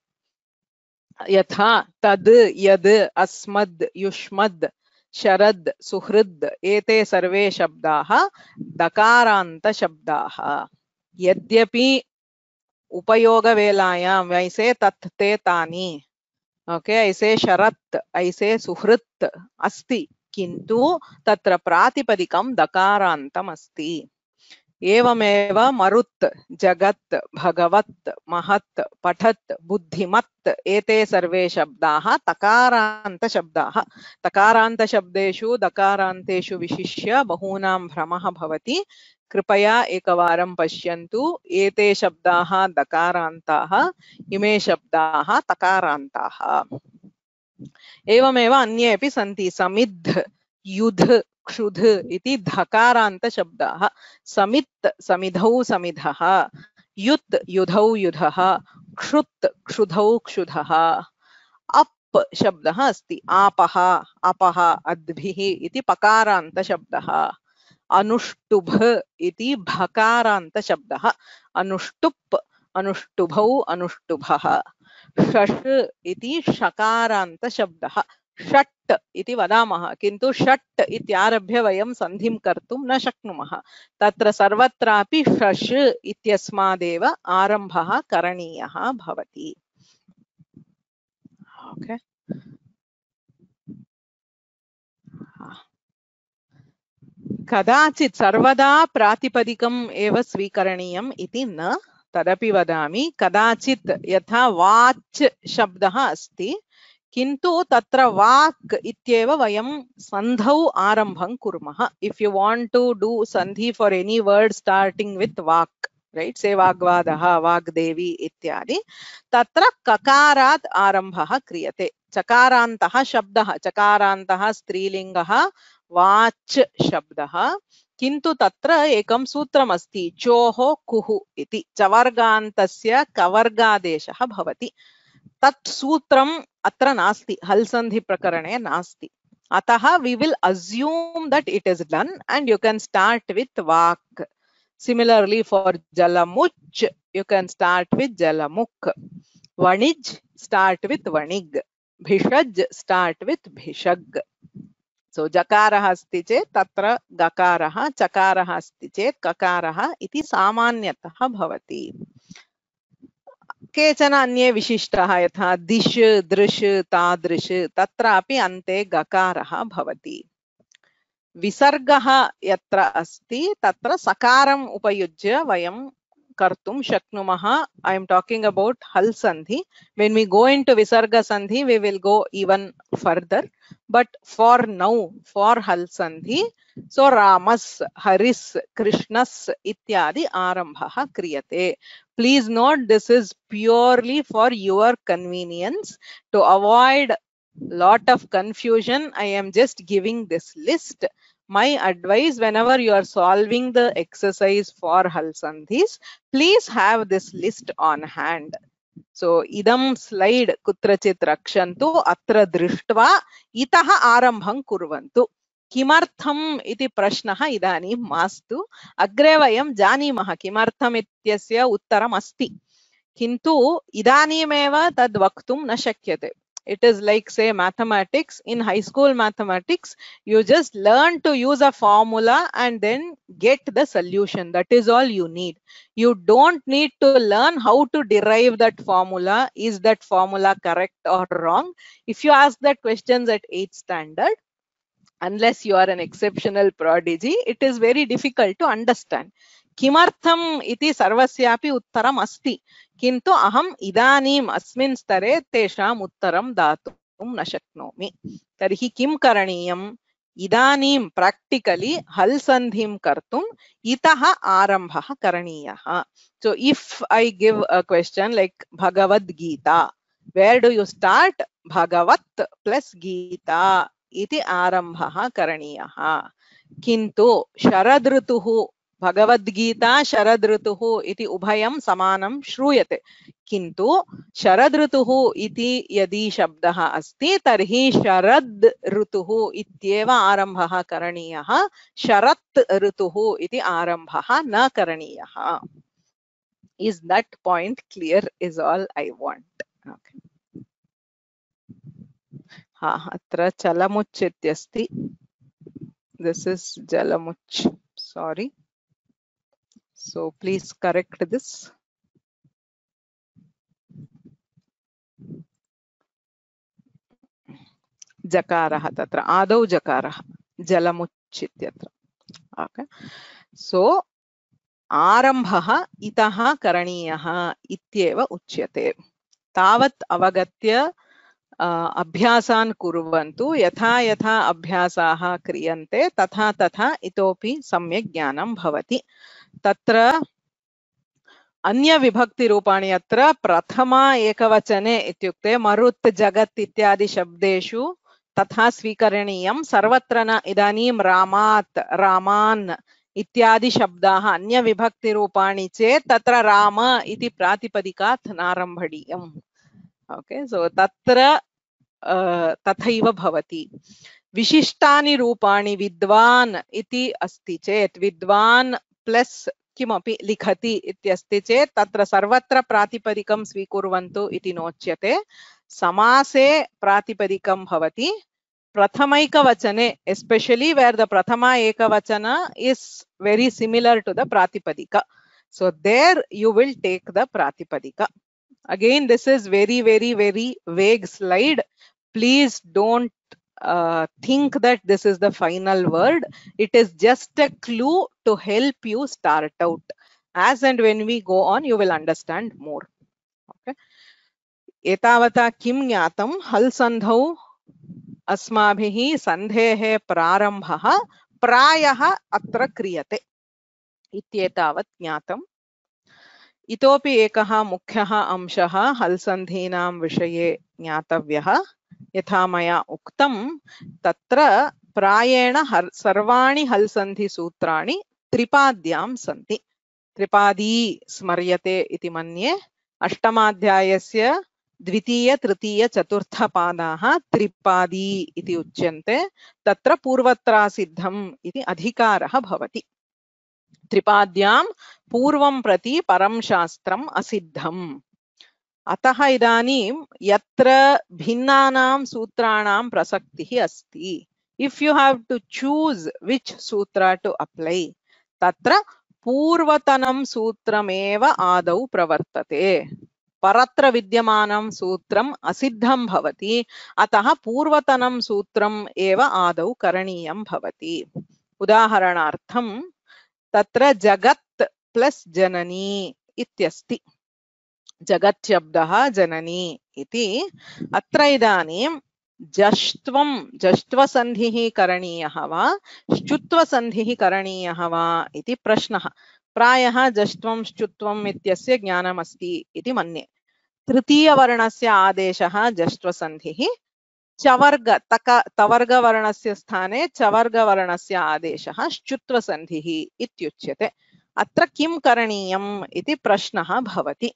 यथा तद्, यद्, अस्मद्, युष्मद्, शरद्, सुहृद् एते सर्वे शब्दाः दकारान्त शब्दाः। यद्यपि उपयोगवेलायां ऐसे तत् ते तानि, ओके, ऐसे शरत्, ऐसे सुहृत् अस्ति, किन्तु तत्र प्रातिपदिकं दकारान्तम् अस्ति। एवमेव मरुत्, जगत्, भगवत्, महत्, पठत्, बुद्धिमत् एते सर्वे शब्दाः तकारान्त शब्दाः। तकारान्त शब्देषु दकारान्तेषु विशिष्य बहूनां भ्रमः भवति। कृपया एकवारं पश्यन्तु। एते शब्दाः दकारान्ताः, इमे शब्दाः तकारान्ताः। एवमेव अन्येपि सन्ति। समिद्, युध्, क्षुध् इति धकारान्त शब्दाः। समित्, समिधौ समिधः, युत्, युधौ युधः, क्षुत्, क्षुधौ क्षुधः। अप् शब्दः अस्ति। आपः, अपः, अद्भिः इति पकारान्त शब्दः। अनुष्टुभ इति भकारान्त शब्दः। अनुष्टुप्, अनुष्टुभौ, अनुष्टुभः। षष् इति षकारान्त शब्दः। षट् इति वदामः, किन्तु षट् इत्यारभ्य वयं सन्धिं कर्तुं न शक्नुमः। तत्र सर्वत्रापि षष् इत्यस्मादेव आरम्भः करणीयः भवति। ओके, कदाचित् सर्वदा प्रातिपदिकम् एव स्वीकरणीयम् इति न, तदपि वदामि। कदाचित् यथा वाच् शब्दः अस्ति, किन्तु तत्र वाक् इत्येव वयं सन्धौ आरम्भं कुर्मः। If you want to do सन्धि for any word starting with वाक्, राइट, से वाग्वादः, वाग्देवी इत्यादि, तत्र ककारात् आरम्भः क्रियते। चकारान्तः शब्दः, चकारान्तः स्त्रीलिङ्गः, वाच् शब्दः, किन्तु तत्र एकं सूत्रमस्ति, चोः कुः इति। चवर्गान्तस्य कवर्गादेशः भवति। तत् सूत्रम् अत्र नास्ति, हल् सन्धि प्रकरणे नास्ति। अतः we will assume that it is done and you can start with vak. Similarly for jalamuch, you can start with Jalamuk. Vanij, start with Vanig. Bhishaj, start with Bhishag. So jakarah asti chet tatra gakarah, chakarah asti chet kakarah iti samanyatah bhavati. केचन अन्ये विशिष्टाः यथा दिश दृश तादृश तत्रापि अन्ते गकारः भवति. विसर्गः यत्र अस्ति तत्र सकारम् उपयुज्य वयं कर्तुं शक्नुमः. I am talking about hal sandhi. When we go into visarga sandhi, we will go even further. But for now, for hal sandhi, so Ramas, Haris, Krishnas ityadi arambha kriyate. Please note, this is purely for your convenience. To avoid lot of confusion, I am just giving this list. My advice, whenever you are solving the exercise for hal sandhis, please have this list on hand. So idam slide kutrachit rakshantu atra drishtva itaha arambham kurvantu. किमर्थम इति प्रश्नः इदानीं मास्तु. अग्रे वयं जानीमः किमर्थम् इत्यस्य उत्तरम् अस्ति, किन्तु इदानीमेव तद् वक्तुं न शक्यते. It is like, say, mathematics. In high school mathematics, you just learn to use a formula and then get the solution. That is all you need. You don't need to learn how to derive that formula. Is that formula correct or wrong? If you ask that questions at 8th standard, unless you are an exceptional prodigy, it is very difficult to understand. किमर्थम् इति सर्वस्यापि उत्तरम् अस्ति, किन्तु अहम् इदानीम् अस्मिन् स्तरे तेषाम् उत्तरं दातुं न शक्नोमि. तर्हि किं करणीयम्? इदानीं प्राक्टिकली हल् सन्धिं कर्तुम् इतः आरम्भः करणीयः. So if I give a question like Bhagavad Gita, where do you start? Bhagavat plus Gita इति आरम्भः करणीयः. किन्तु शरद ऋतुः, भगवद्गीता शरद ऋतुः इति उभयं समानं श्रूयते, किन्तु शरद ऋतुः इति यदि शब्दः अस्ति तर्हि शरद ऋतुः इत्येव आरम्भः करणीयः. शरत् ऋतुः इति आरम्भः न करणीयः. Is that point clear? Is all I want. Okay. अत्र चलमुच् इत्यस्ति. This is Jalamuch. Sorry. So please correct this. Jakarah tatra adau jakarah Jalamuch ityatra. Okay. So आरम्भः इतः करणीयः इत्येव उच्यते. तावत् अवगत्य अभ्यासान् कुर्वन्तु. यथा यथा अभ्यासाः क्रियन्ते तथा तथा इतोपि सम्यक् ज्ञानं भवति. तत्र अन्य विभक्ति रूपाणि अत्र प्रथमा एकवचने इत्युक्ते मरुत् जगत् इत्यादि शब्देषु तथा स्वीकरणीयं. सर्वत्र न. इदानीं रामात् रामान् इत्यादि शब्दाः अन्य विभक्ति रूपाणि चेत् तत्र राम इति प्रातिपदिकात् नारम्भणीयम्. ओके, सो तत्र तथैव भवति. विशिष्टानि रूपाणि विद्वान् इति अस्ति चेत् विद्वान् प्लस किमपि लिखति इत्यस्ति चेत् तत्र सर्वत्र प्रातिपदिकं स्वीकुर्वन्तु इति नोच्यते. समासे प्रातिपदिकं भवति. Prathamayikavachane, especially where the Prathama Ekavachana is very similar to the Pratipadika. So there you will take the Pratipadika. Again, this is very, very, very vague slide. Please don't think that this is the final word. It is just a clue to help you start out. As and when we go on, you will understand more. Okay. Etavata kim jnatam hal sandhau अस्माभिः सन्धेः प्रारम्भः प्रायः अत्र क्रियते इत्येतावत् ज्ञातम्. इतोपि एकः मुख्यः अंशः हल् सन्धीनां विषये ज्ञातव्यः. यथा मया उक्तं तत्र प्रायेण सर्वाणि हल् सन्धि सूत्राणि त्रिपाद्यां सन्ति. त्रिपादी स्मर्यते इति मन्ये. अष्टमाध्यायस्य द्वितीय तृतीय चतुर्थ पादाः त्रिपादी इति उच्यन्ते. तत्र पूर्वत्रा सिद्धम् इति अधिकारः भवति. त्रिपाद्यां पूर्वं प्रति परं शास्त्रम् असिद्धम्। अतः इदानीं यत्र भिन्नानां सूत्राणां प्रसक्तिः अस्ति, if you have to choose which sutra to apply, तत्र पूर्वतनं सूत्रमेव आदौ प्रवर्तते। परत्र विद्यमानं सूत्रम् असिद्धं भवति, अतः पूर्वतनं सूत्रम् एव आदौ करणीयं भवति। उदाहरणार्थं तत्र जगत् प्लस जननी इत्यस्ति। जगत् शब्दः जननी इति। अत्र इदानीं जष्ट्वं जष्ट्वसन्धिः करणीयः वा श्चुत्वसन्धिः करणीयः वा इति प्रश्नः। प्रायः जष्ट्वं श्चुत्वम् इत्यस्य ज्ञानमस्ति इति मन्ये। तृतीयवर्णस्य आदेशः जष्ट्वसन्धिः, चवर्ग तवर्गवर्णस्य स्थाने चवर्गवर्णस्य आदेशः श्चुत्वसन्धिः इत्युच्यते। अत्र किं करणीयम् इति प्रश्नः भवति।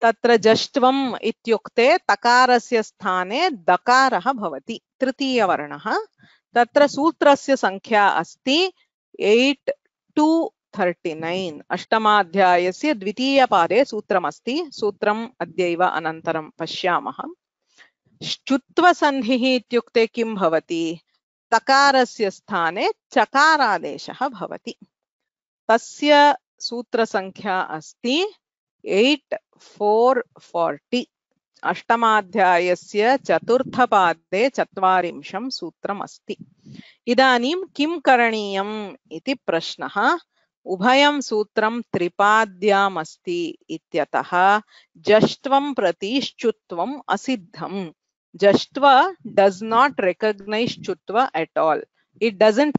तत्र जष्ट्वम् इत्युक्ते तकारस्य स्थाने दकारः भवति, तृतीयवर्णः। तत्र सूत्रस्य संख्या अस्ति 8 to 39। अष्टमाध्यायस्य द्वितीयपादे सूत्रमस्ति। सूत्रम् अद्यैव अनन्तरं पश्यामः। श्चुत्वसन्धिः इत्युक्ते किं भवति? तकारस्य स्थाने चकारादेशः भवति। तस्य सूत्रसंख्या अस्ति 8440। अष्टमाध्यायस्य चतुर्थपादे 40 सूत्रम् अस्ति। इदानीं किं करणीयम् इति प्रश्नः। उभयं सूत्रं त्रिपाद्याम् अस्ति इत्यतः जष्ट्वं प्रति श्चुत्वम् असिद्धम्। जष्ट्वा does not recognize chutva at all. It doesn't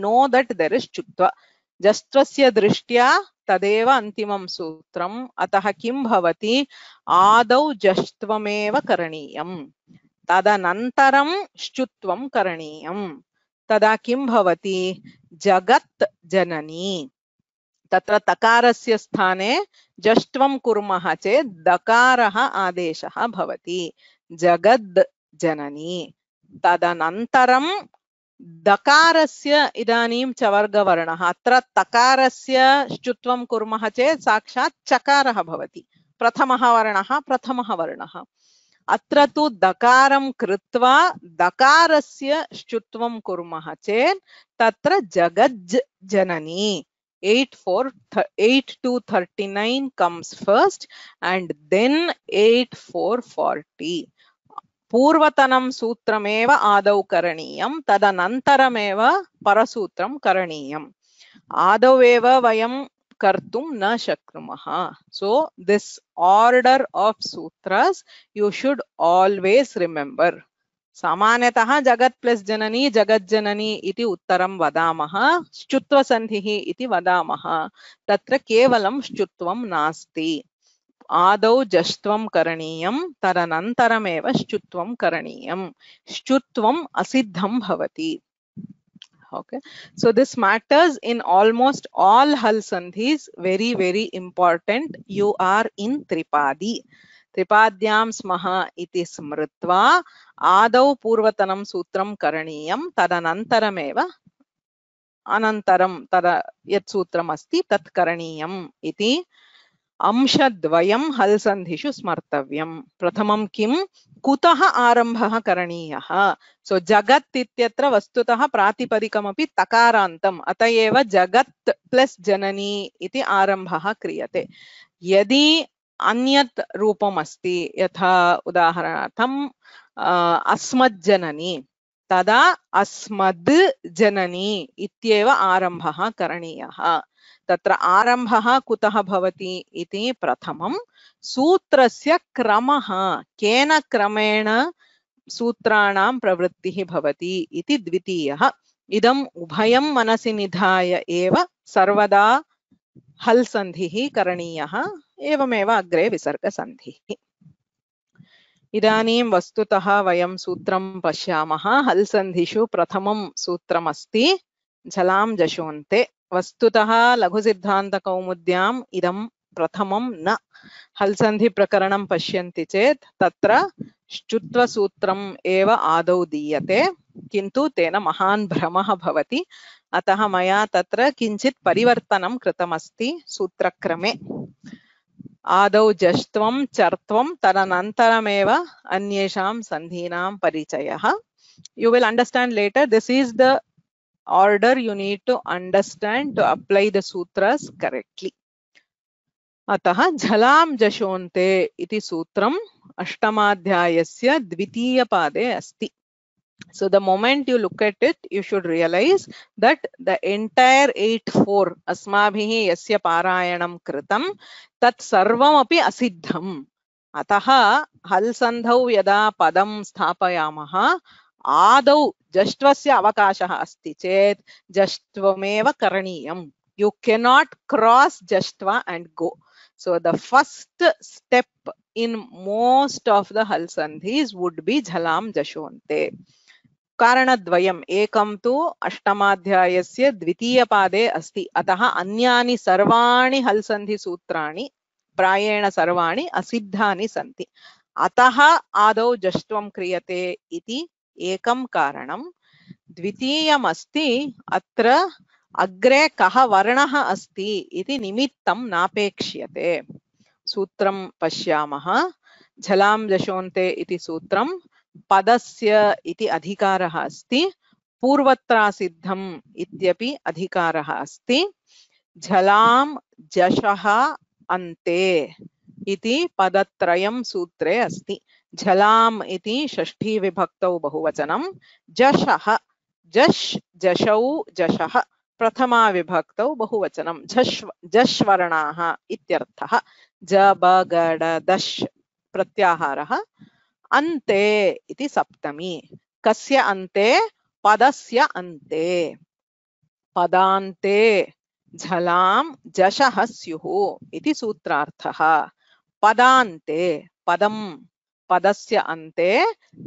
know that there is chutva. जष्ट्वस्य दृष्ट्या तदेव अन्तिमं सूत्रम्। अतः किं भवति? आदौ जष्ट्वमेव करणीयम्, तदनन्तरं श्चुत्वं करणीयम्। तदा किं भवति? जगत् जननी। तत्र तकारस्य स्थाने जष्ट्वं कुर्मः चेत् दकारः आदेशः भवति, जगद् जननी। तदनन्तरं दकारस्य इदानीं चवर्गवर्णः। अत्र तकारस्य श्चुत्वं कुर्मः चेत् साक्षात् चकारः भवति, प्रथमः वर्णः। अत्र तु दकारं कृत्वा दकारस्य श्चुत्वं कुर्मः चेत् तत्र जगज् जननी। 8 to 39 comes first and then 8440. पूर्वतनं सूत्रमेव आदौ करणीयं, तदनन्तरमेव परसूत्रं करणीयम्। आदौ एव वयं कर्तुं न शक्नुमः। So this order of sutras you should always remember. सामान्यतः जगत् प्लस जननी जगज्जननी इति उत्तरं वदामः, श्चुत्वसन्धिः इति वदामः। तत्र केवलं श्चुत्वं नास्ति। आदौ जष्ट्वं करणीयं, तदनन्तरमेव श्चुत्वं करणीयं। श्चुत्वम् असिद्धं भवति। Okay, so this matters in almost all hal sandhis. Very important. You are in tripadi. त्रिपाद्यां स्मः इति स्मृत्वा आदौ पूर्वतनं सूत्रं करणीयं, तदनन्तरमेव अनन्तरं तदा यत् सूत्रम् अस्ति तत् करणीयम् इति अंशद्वयं हल् सन्धिषु स्मर्तव्यं। प्रथमं किं? कुतः आरम्भः करणीयः? सो जगत् इत्यत्र वस्तुतः प्रातिपदिकमपि तकारान्तम्, अत एव जगत् प्लस जननी इति आरम्भः क्रियते। यदि अन्यत् रूपम् अस्ति, यथा उदाहरणार्थम् अस्मज्जननी, तदा अस्मद् जननी इत्येव आरम्भः करणीयः। तत्र आरम्भः कुतः भवति इति प्रथमं सूत्रस्य क्रमः, केन क्रमेण सूत्राणां प्रवृत्तिः भवति इति द्वितीयः। इदम् उभयं मनसि निधाय एव सर्वदा हल् सन्धिः करणीयः, एवमेव अग्रे विसर्गसन्धिः। इदानीं वस्तुतः वयं सूत्रं पश्यामः। हल् सन्धिषु प्रथमं सूत्रमस्ति झलां जशोन्ते। वस्तुतः लघुसिद्धान्तकौमुद्याम् इदं प्रथमं न। हल् सन्धि प्रकरणं पश्यन्ति चेत् तत्र श्चुत्वसूत्रम् एव आदौ दीयते, किन्तु तेन महान् भ्रमः भवति, अतः मया तत्र किञ्चित् परिवर्तनं कृतमस्ति सूत्रक्रमे। आदौ जष्ट्वं चर्त्वं तदनन्तरमेव अन्येषां सन्धीनां परिचयः. You will understand later. This is the order you need to understand to apply the sutras correctly. अतः झलां जशोन्ते इति सूत्रम् अष्टमाध्यायस्य द्वितीयपादे अस्ति. So the moment you look at it, you should realize that the entire 8-4 अस्माभिः यस्य पारायणं कृतं तत् सर्वमपि असिद्धम्. अतः हल् सन्धौ यदा पदं स्थापयामः आदौ जष्ट्वस्य अवकाशः अस्ति चेत् जष्ट्वमेव करणीयम्. You cannot cross jashtva and go. So the first step in most of the hal sandhis would be jhalam jashonte. कारणद्वयम्. एकं तु अष्टमाध्यायस्य द्वितीयपादे अस्ति, अतः अन्यानि सर्वाणि हल् सन्धि सूत्राणि प्रायेण सर्वाणि असिद्धानि सन्ति, अतः आदौ जष्ट्वं क्रियते इति एकं कारणं. द्वितीयमस्ति अत्र अग्रे कः वर्णः अस्ति इति निमित्तं नापेक्ष्यते. सूत्रं पश्यामः. झलां जशोन्ते इति सूत्रं पदस्य इति अधिकारः अस्ति, पूर्वत्रासिद्धम् इत्यपि अधिकारः अस्ति. झलां जशः अन्ते इति पदत्रयं सूत्रे अस्ति. झलाम् इति षष्ठी विभक्तौ बहुवचनं, जशः जश् जशौ जशः प्रथमा विभक्तौ बहुवचनं, जश्वर्णाः इत्यर्थः. जबगडदश् प्रत्याहारः, अन्ते इति सप्तमी. कस्य अन्ते? पदस्य अन्ते. पदान्ते झलां जशः स्युः इति सूत्रार्थः. पदान्ते पदं पदस्य अन्ते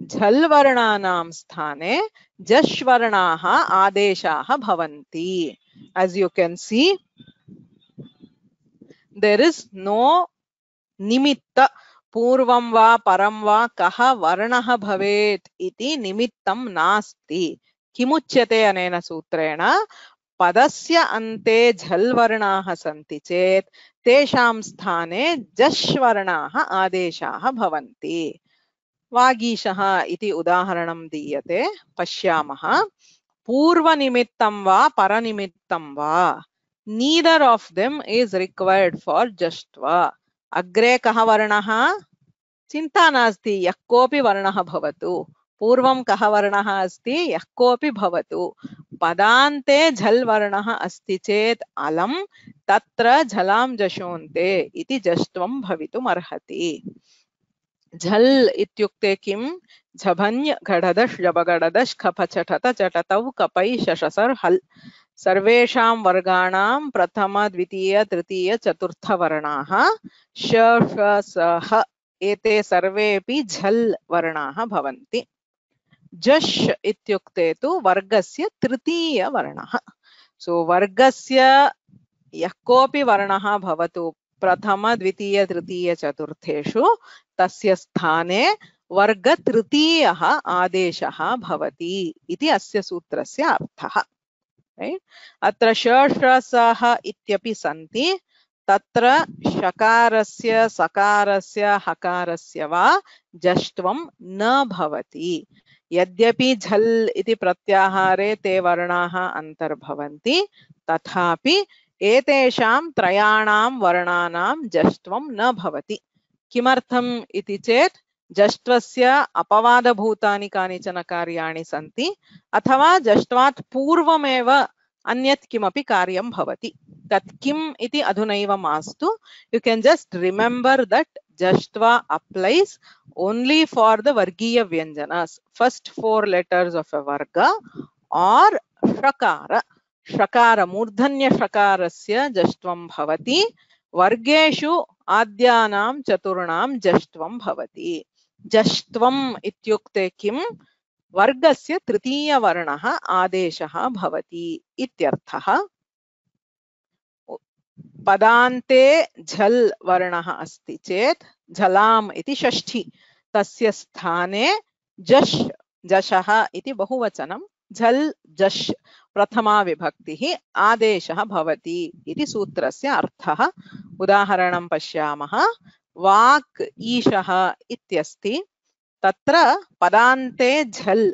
झल् वर्णानां स्थाने जश्वर्णाः आदेशाः भवन्ति. As you can see, there is no निमित्त. पूर्वं वा परं वा कः वर्णः भवेत् इति निमित्तं नास्ति. किमुच्यते अनेन सूत्रेण? पदस्य अन्ते झल् वर्णाः सन्ति चेत् तेषां स्थाने जश्वर्णाः आदेशाः भवन्ति. वागीशः इति उदाहरणं दीयते, पश्यामः. पूर्वनिमित्तं वा परनिमित्तं वा, neither of them is required for jashtva. अग्रे कः वर्णः? चिन्ता नास्ति, यः कोऽपि वर्णः भवतु. पूर्वं कः वर्णः अस्ति? यः कोऽपि भवतु. पदान्ते झल् वर्णः अस्ति चेत् अलं तत्र झलां जशोन्ते इति जष्ट्वं भवितुम् अर्हति. झल् इत्युक्ते किं? झभञ् घढदश् जबगडदश् खपचठत चटतौ कपै शशसर् हल्. सर्वेषां वर्गाणां प्रथम द्वितीय तृतीय चतुर्थ वर्णाः श श स ह एते सर्वेपि झल् वर्णाः भवन्ति. जश् इत्युक्ते तु वर्गस्य तृतीय वर्णः. सो वर्गस्य यः कोऽपि वर्णः भवतु प्रथम द्वितीय तृतीय चतुर्थेषु, तस्य स्थाने वर्ग तृतीयः आदेशः भवति इति अस्य सूत्रस्य अर्थः. अत्र श इत्यपि सन्ति. तत्र शकारस्य सकारस्य हकारस्य वा जष्ट्वं न भवति. यद्यपि झल् इति प्रत्याहारे ते वर्णाः अन्तर्भवन्ति, तथापि एतेषां त्रयाणां वर्णानां जष्ट्वं न भवति. किमर्थम् इति चेत् जष्ट्वस्य अपवादभूतानि कानिचन कार्याणि सन्ति, अथवा जष्ट्वात् पूर्वमेव अन्यत् किमपि कार्यं भवति. तत् किम् इति अधुनैव मास्तु. You can just remember that jashtva applies only for the vargiya vyanjanas, first 4 letters of a varga, or shakara. Shakara मूर्धन्य शकारस्य जष्ट्वं भवति. वर्गेषु आद्यानां चतुर्णां जष्ट्वं भवति. जष्ट्वम् इत्युक्ते किं? वर्गस्य तृतीय वर्णः आदेशः भवति इत्यर्थः. पदान्ते झल् वर्णः अस्ति चेत् झलाम् इति षष्ठी, तस्य स्थाने जश् जशः इति बहुवचनं, झल् जश् प्रथमा विभक्तिः, आदेशः भवति इति सूत्रस्य अर्थः। उदाहरणं पश्यामः। वाक् ईशः इत्यस्ति, तत्र पदान्ते झल्,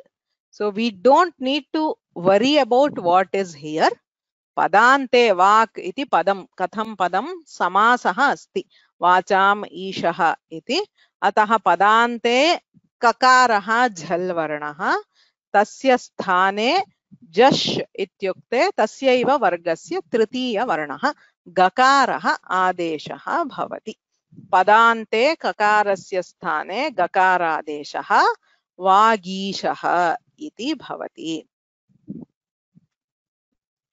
so we don't need to worry about what is here. पदान्ते वाक् इति पदं, कथं पदं, समासः अस्ति, वाचाम् ईशः इति, अतः पदान्ते ककारः झल् वर्णः, तस्य स्थाने जश् इत्युक्ते तस्यैव वर्गस्य तृतीयवर्णः गकारः आदेशः भवति। पदान्ते ककारस्य स्थाने गकारादेशः वागीशः इति भवति।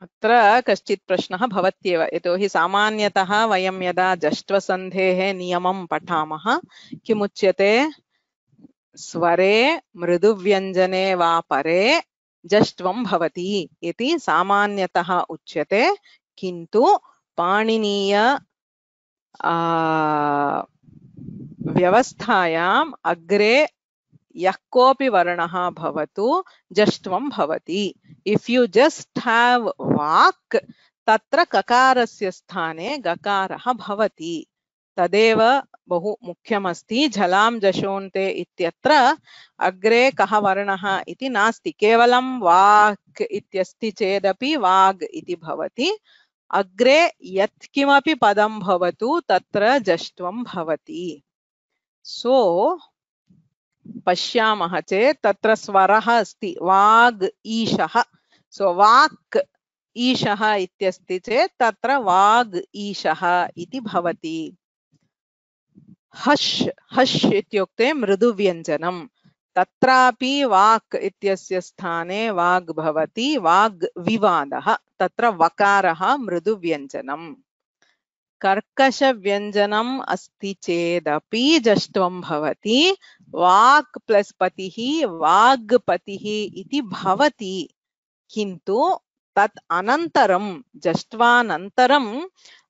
अत्र कश्चित् प्रश्नः भवत्येव, यतोहि सामान्यतः वयं यदा जष्ट्वसन्धेः नियमं पठामः किमुच्यते, स्वरे मृदुव्यञ्जने वा परे जष्ट्वं भवति इति सामान्यतः उच्यते, किन्तु पाणिनीय व्यवस्थायाम् अग्रे यः कोऽपि वर्णः भवतु जष्ट्वं भवति। इफ यू जस्ट हैव वाक्, तत्र ककारस्य स्थाने गकारः भवति, तदेव बहु मुख्यमस्ति। झलां जशोन्ते इत्यत्र अग्रे कः वर्णः इति नास्ति, केवलं वाक् इत्यस्ति चेदपि वाग् इति भवति, अग्रे यत्किमपि पदं भवतु तत्र जष्ट्वं भवति। सो पश्यामः चेत् तत्र स्वरः अस्ति वाग् ईशः, सो वाक् ईशः इत्यस्ति चेत् तत्र वाग् ईशः इति भवति। हश् हश् इत्युक्ते मृदुव्यञ्जनं, तत्रापि वाक् इत्यस्य स्थाने वाग् भवति, वाग् विवादः, तत्र वकारः मृदुव्यञ्जनम्। कर्कशव्यञ्जनम् अस्ति चेदपि जष्ट्वं भवति, वाक् प्लस् पतिः वाग्पतिः इति भवति, किन्तु तत् अनन्तरं जष्ट्वानन्तरम्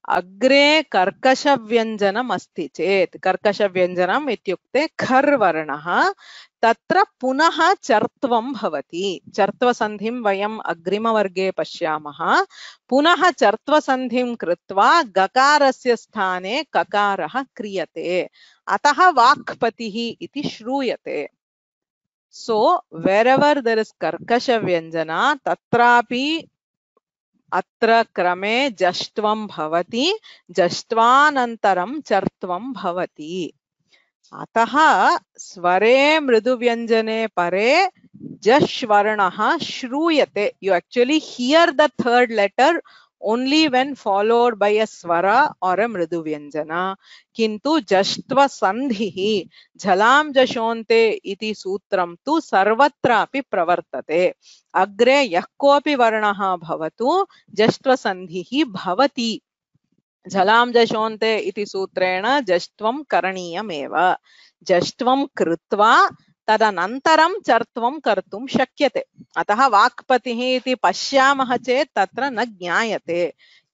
अग्रे कर्कशव्यञ्जनम् अस्ति चेत्, कर्कशव्यञ्जनम् इत्युक्ते खर् वर्णः, तत्र पुनः चर्त्वं भवति। चर्त्वसन्धिं वयम् अग्रिमवर्गे पश्यामः। पुनः चर्त्वसन्धिं कृत्वा गकारस्य स्थाने ककारः क्रियते, अतः वाक्पतिः इति श्रूयते। सो wherever there is कर्कशव्यञ्जना तत्रापि अत्र क्रमे जष्ट्वं भवति, जष्ट्वानन्तरं चर्त्वं भवति। अतः स्वरे मृदुव्यञ्जने परे जश् वर्णः श्रूयते। You actually hear the third letter only when followed by a swara or a mriduvyanjana. किन्तु जष्ट्व सन्धिः झलां जशोन्ते इति सूत्रं तु सर्वत्रापि प्रवर्तते। अग्रे यः कोऽपि वर्णः भवतु जष्ट्व सन्धिः भवति। झलां जशोन्ते इति सूत्रेण जष्ट्वं करणीयमेव। जष्ट्वं कृत्वा तदनन्तरं चर्त्वं कर्तुं शक्यते। अतः वाक्पतिः इति पश्यामः चेत् तत्र न ज्ञायते,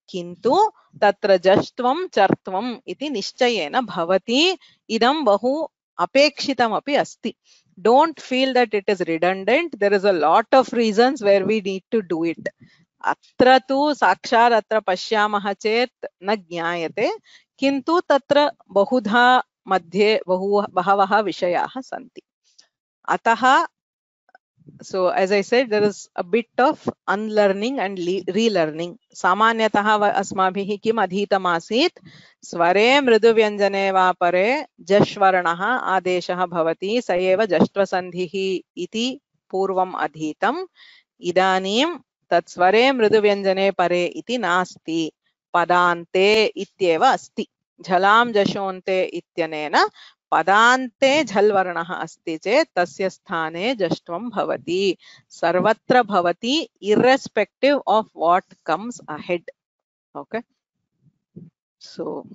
किन्तु तत्र जष्ट्वं चर्त्वम् इति निश्चयेन भवति। इदं बहु अपेक्षितमपि अस्ति। Don't feel that it is redundant. There is a lot of reasons where we need to do it. अत्र तु साक्षात् अत्र पश्यामः चेत् न ज्ञायते, किन्तु तत्र बहुधा मध्ये बहवः विषयाः सन्ति। अतः so as I said, there is a bit of unlearning and relearning. सामान्यतः अस्माभिः किम् अधीतमासीत्, स्वरे मृदुव्यञ्जने वा परे जश् वर्णः आदेशः भवति, स एव जष्ट्वसन्धिः इति पूर्वम् अधीतम्। इदानीं तत् स्वरे मृदुव्यञ्जने परे इति नास्ति, पदान्ते इत्येव अस्ति। झलां जशोन्ते इत्यनेन पदान्ते झल् वर्णः अस्ति चेत् तस्य स्थाने जष्ट्वं भवति, सर्वत्र भवति, irrespective of what comes ahead. Okay, so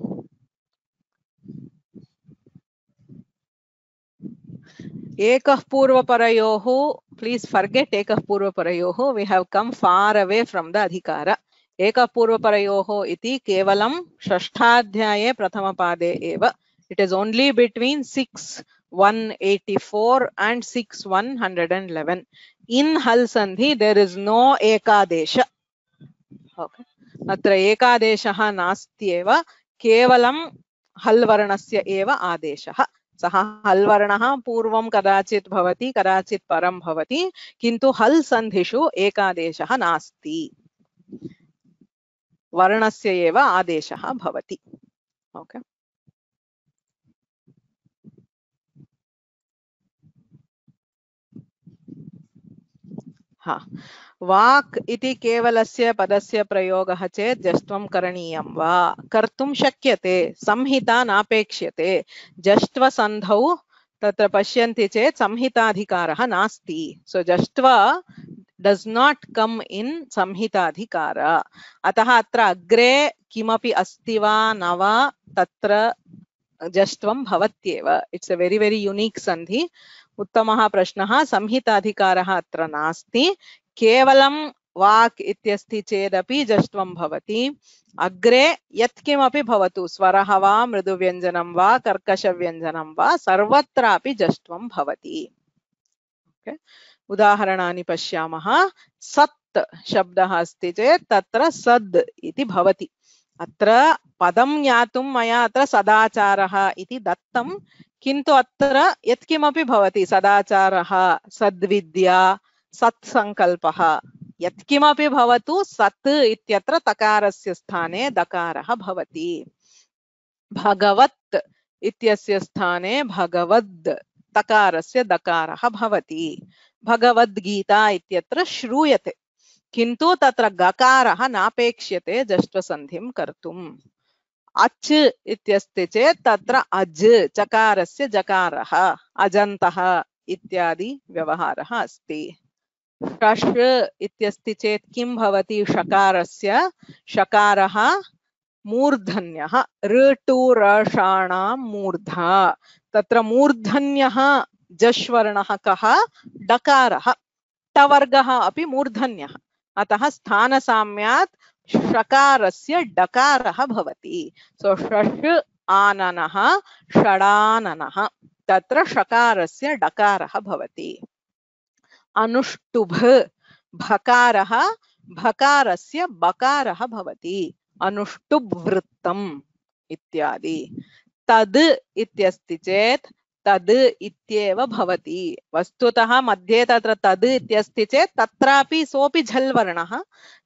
ekah purvaparayoh, please forget ekah purvaparayoh, we have come far away from the adhikara. एकः पूर्वपरयोः इति केवलं षष्ठाध्याये प्रथमपादे एव. It is only between 6 184 and 6 111. In Hal Sandhi there is no Ekadesha. Okay. अत्र एकादेशः नास्त्येव, केवलं हल् वर्णस्य एव आदेशः। सः हल् वर्णः पूर्वं कदाचित् भवति, कदाचित् परं भवति, किन्तु हल् सन्धिषु एकादेशः नास्ति, वर्णस्य एव आदेशः भवति। ओके। हाँ, वाक् इति केवलस्य पदस्य प्रयोगः चेत् जष्ट्वं करणीयं वा? कर्तुं शक्यते, संहिता नापेक्ष्यते। जष्ट्वसन्धौ तत्र पश्यन्ति चेत् संहिताधिकारः नास्ति। सो जष्ट्वा does not come in संहिताधिकार। अतः अत्र अग्रे किमपि अस्ति वा न वा तत्र जष्ट्वं भवत्येव। It's a very very unique सन्धि। उत्तमः प्रश्नः। संहिताधिकारः अत्र नास्ति, केवलं वाक् इत्यस्ति चेदपि जष्ट्वं भवति। अग्रे यत्किमपि भवतु, स्वरः वा मृदुव्यञ्जनं वा कर्कशव्यञ्जनं वा, सर्वत्रापि जष्ट्वं भवति। ओके, उदाहरणानि पश्यामः। सत् शब्दः अस्ति चेत् तत्र सद् इति भवति। अत्र पदं ज्ञातुं मया अत्र सदाचारः इति दत्तं, किन्तु अत्र यत्किमपि भवति, सदाचारः, सद्विद्या, सत्सङ्कल्पः, यत्किमपि भवतु, सत् इत्यत्र तकारस्य स्थाने दकारः भवति। भगवत् इत्यस्य स्थाने भगवद् तकारस्य दकारः भवति। भगवद्गीता इत्यत्र श्रूयते, किन्तु तत्र गकारः नापेक्ष्यते जष्ट्वसन्धिं कर्तुम्। अच् इत्यस्ति चेत् तत्र अज् चकारस्य जकारः, अजन्तः इत्यादि व्यवहारः अस्ति। शश् इत्यस्ति चेत् किं भवति? षकारस्य षकारः मूर्धन्यः, ऋटु रषाणां मूर्धा। तत्र मूर्धन्यः जश्वर्णः कः? डकारः। टवर्गः अपि मूर्धन्यः, अतः स्थानसाम्यात् षकारस्य डकारः भवति। सो षष् आननः षडाननः, तत्र षकारस्य डकारः भवति। अनुष्टुभ भकारः भकारस्य बकारः भवति, अनुष्टुभ वृत्तम् इत्यादि। तद् इत्यस्ति चेत् तद् इत्येव भवति। वस्तुतः मध्ये तत्र तद् इत्यस्ति चेत् तत्रापि सोऽपि झल् वर्णः,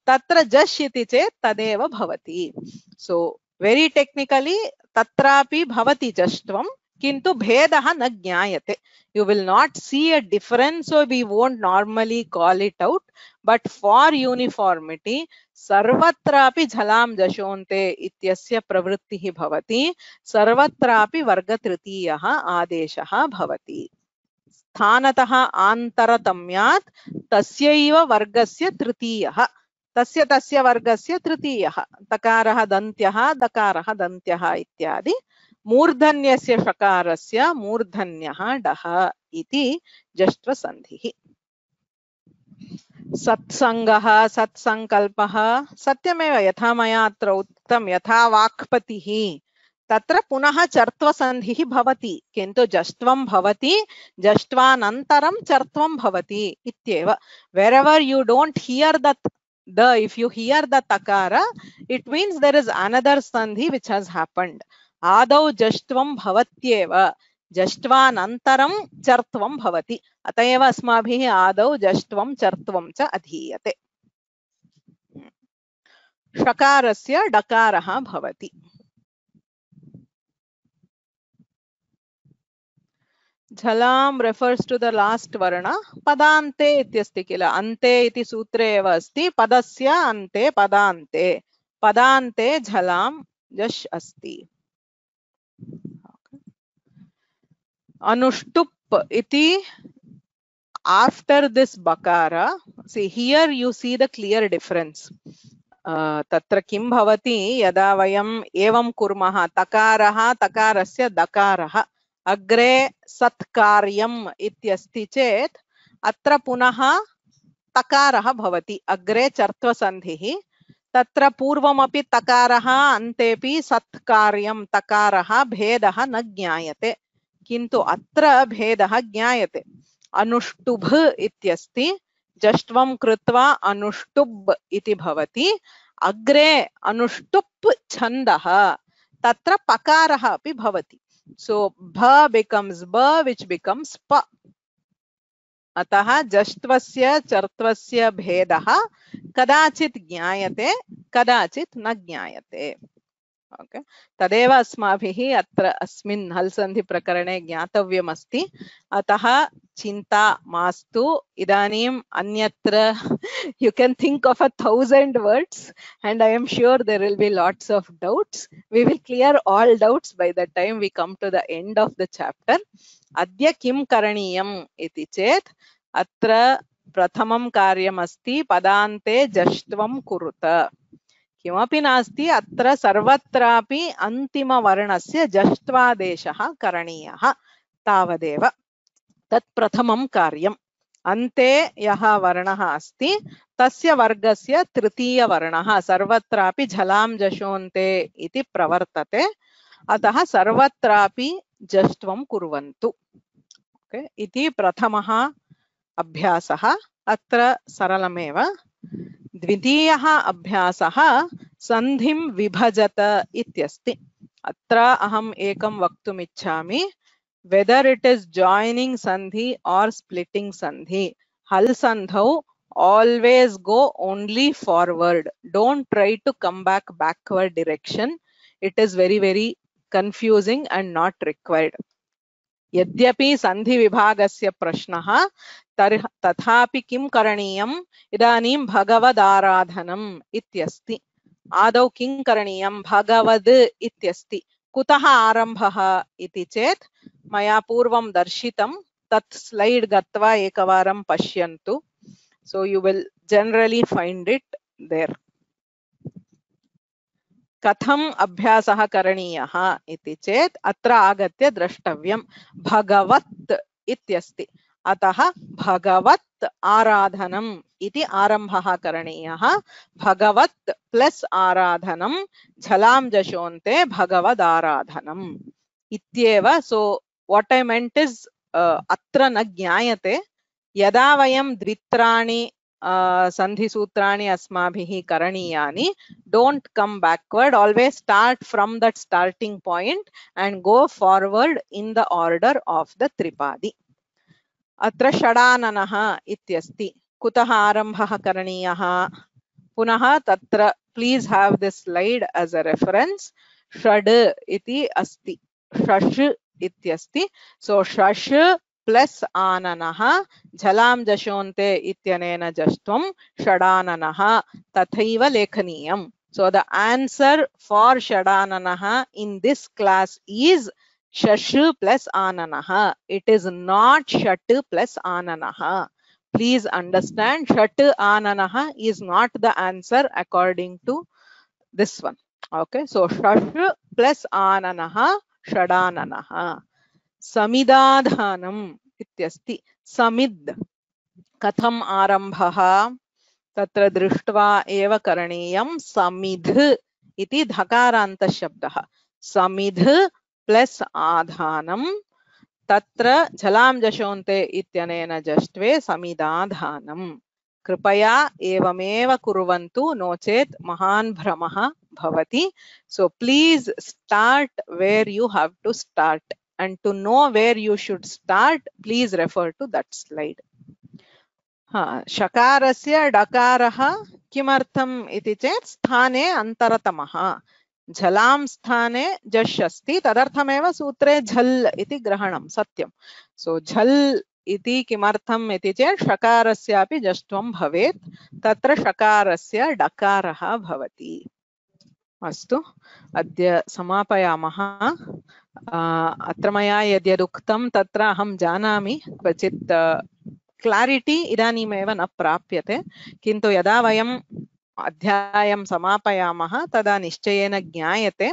तत्र जश् इति चेत् तदेव भवति। सो वेरी टेक्निकली तत्रापि भवति जष्ट्वं, किन्तु भेदः न ज्ञायते। You will not see a difference, so we won't normally call it out, but for uniformity सर्वत्रापि झलां जशोन्ते इत्यस्य प्रवृत्तिः भवति, सर्वत्रापि वर्गतृतीयः आदेशः भवति। स्थानतः आन्तरतम्यात् तस्यैव वर्गस्य तृतीयः, तस्य वर्गस्य तृतीयः, तकारः दन्त्यः दकारः दन्त्यः इत्यादि। मूर्धन्यस्य षकारस्य मूर्धन्यः डः इति जष्ट्वसन्धिः। सत्सङ्गः सत्सङ्कल्पः सत्यमेव, यथा मया अत्र उक्तं, यथा वाक्पतिः तत्र पुनः चर्त्वसन्धिः भवति, किन्तु जष्ट्वं भवति, जष्ट्वानन्तरं चर्त्वं भवति इत्येव। Wherever you don't hear if you hear the takara, it means there is another sandhi which has happened. आदौ जष्ट्वं भवत्येव, जष्ट्वानन्तरं चर्त्वं भवति, अत एव अस्माभिः आदौ जष्ट्वं चर्त्वं च अधीयते। षकारस्य डकारः भवति। झलां refers to the last varna, पदान्ते इत्यस्ति किल, अन्ते इति सूत्रे एव अस्ति, पदस्य अन्ते पदान्ते, पदान्ते झलां जश् अस्ति। Anushtup iti, after this bakara, see here you see the clear difference. Tatra kim bhavati yada vayam evam kurmaha takaraha takarasya dakaraha agre satkaryam ityasti chet atra punaha takaraha bhavati agre chartva sandhihi तत्र पूर्वमपि तकारः अन्तेपि सत्कार्यं तकारः भेदः न ज्ञायते, किन्तु अत्र भेदः ज्ञायते। अनुष्टुभ इत्यस्ति, जष्ट्वं कृत्वा अनुष्टुब् इति भवति। अग्रे अनुष्टुप् छन्दः, तत्र पकारः अपि भवति। So bha becomes ba, which becomes pa. अतः जष्ट्वस्य चर्त्वस्य भेदः कदाचित् ज्ञायते, कदाचित् न ज्ञायते। ओके, तदेव अस्माभिः अत्र अस्मिन् हल् सन्धि प्रकरणे ज्ञातव्यमस्ति। अतः चिन्ता मास्तु। इदानीम् अन्यत्र you can think of 1,000 words and I am sure there will be lots of doubts. We will clear all doubts by the time we come to the end of the chapter. अद्य किं करणीयम् इति चेत् अत्र प्रथमं कार्यमस्ति पदान्ते जष्ट्वं कुरुत। किमपि नास्ति, अत्र सर्वत्रापि अन्तिमवर्णस्य जष्ट्वादेशः करणीयः, तावदेव। तत् प्रथमं कार्यम्। अन्ते यः वर्णः अस्ति तस्य वर्गस्य तृतीयवर्णः सर्वत्रापि झलां जशोन्ते इति प्रवर्तते। अतः सर्वत्रापि जष्ट्वं कुर्वन्तु। ओके, इति प्रथमः अभ्यासः। अत्र सरलमेव। द्वितीयः अभ्यासः सन्धिं विभजत इत्यस्ति। अत्र अहम् एकं वक्तुम् इच्छामि। Whether it is joining sandhi or splitting sandhi, hal sandhau always go only forward. Don't try to come back backward direction. It is very, very confusing and not required. यद्यपि सन्धि विभागस्य प्रश्नः तथापि किं करणीयम्? इदानीं भगवदाराधनम् इत्यस्ति। आदौ किं करणीयं? भगवद् इत्यस्ति। कुतः आरम्भः इति चेत् मया पूर्वं दर्शितं, तत् स्लैड् गत्वा एकवारं पश्यन्तु। So you will generally find it there. कथम् अभ्यासः करणीयः इति चेत् अत्र आगत्य द्रष्टव्यं। भगवत् इत्यस्ति, अतः भगवत् आराधनम् इति आरम्भः करणीयः। भगवत् प्लस् आराधनं झलां जशोन्ते भगवदाराधनम् इत्येव। सो what I meant is अत्र न ज्ञायते। यदा वयं द्वित्राणि सन्धिसूत्राणि अस्माभिः करणीयानि, don't come backward, always start from that starting point and go forward in the order of the tripadi. अत्र षडाननः इत्यस्ति। कुतः आरम्भः करणीयः? पुनः तत्र please have this slide as a reference. षड् इति अस्ति, षष् इत्यस्ति। So षष् प्लस आननः झलां जशोन्ते इत्यनेन जष्ट्वं षडाननः तथैव लेखनीयम्। So the answer for षडाननः in this class is षष् plus आननः. It is not षट् plus आननः. Please understand, षट् आननः is not the answer according to this one. Okay, so षष् plus आननः षडाननः। समिदाधानम् इत्यस्ति। समिद् कथम् आरम्भः? तत्र दृष्ट्वा एव करणीयं। समिध् इति धकारान्तशब्दः। समिध् प्लस् आधानं, तत्र झलां जशोन्ते इत्यनेन जष्ट्वे समिदाधानम्। कृपया एवमेव कुर्वन्तु, नो चेत् महान् भ्रमः भवति। So please start where you have to start. And to know where you should start, please refer to that slide. शकारस्य डकारः किमर्थम् इति चेत् स्थाने अन्तरतमः। झलां स्थाने जश् अस्ति, तदर्थमेव सूत्रे झल् इति ग्रहणं सत्यं। सो झल् इति किमर्थम् इति चेत् षकारस्यापि जष्ट्वं भवेत्, तत्र षकारस्य डकारः भवति। अस्तु, अद्य समापयामः। अत्र मया यद्यदुक्तं तत्र अहं जानामि क्वचित् क्लारिटी इदानीमेव न प्राप्यते, किन्तु यदा वयम् अध्यायं समापयामः तदा निश्चयेन ज्ञायते।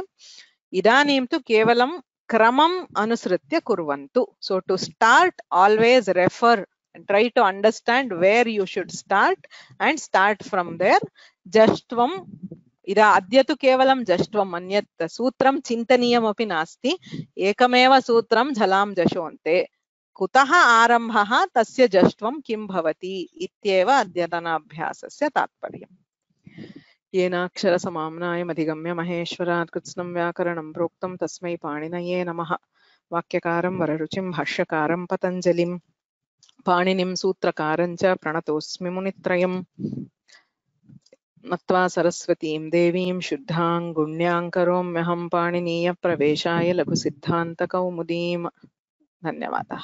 इदानीं तु केवलं क्रमम् अनुसृत्य कुर्वन्तु। So to start, always refer and try to understand where you should start and start from there. जष्ट्वं इदा अद्य तु केवलं जष्ट्वम्, अन्यत् सूत्रं चिन्तनीयमपि नास्ति। एकमेव सूत्रं झलां जशोन्ते। कुतः आरम्भः तस्य जष्ट्वं किं भवति इत्येव अद्यतनाभ्यासस्य तात्पर्यम्। येनाक्षरसमाम्नायमधिगम्य महेश्वरात् कृत्स्नं व्याकरणं प्रोक्तं तस्मै पाणिनये नमः। वाक्यकारं वररुचिं भाष्यकारं पतञ्जलिं पाणिनिं सूत्रकारं च प्रणतोऽस्मि मुनित्रयम्। नत्वा सरस्वतीं देवीं शुद्धां गुण्यां करोम्यहं पाणिनीयप्रवेशाय लघुसिद्धान्तकौमुदीम्। धन्यवादः।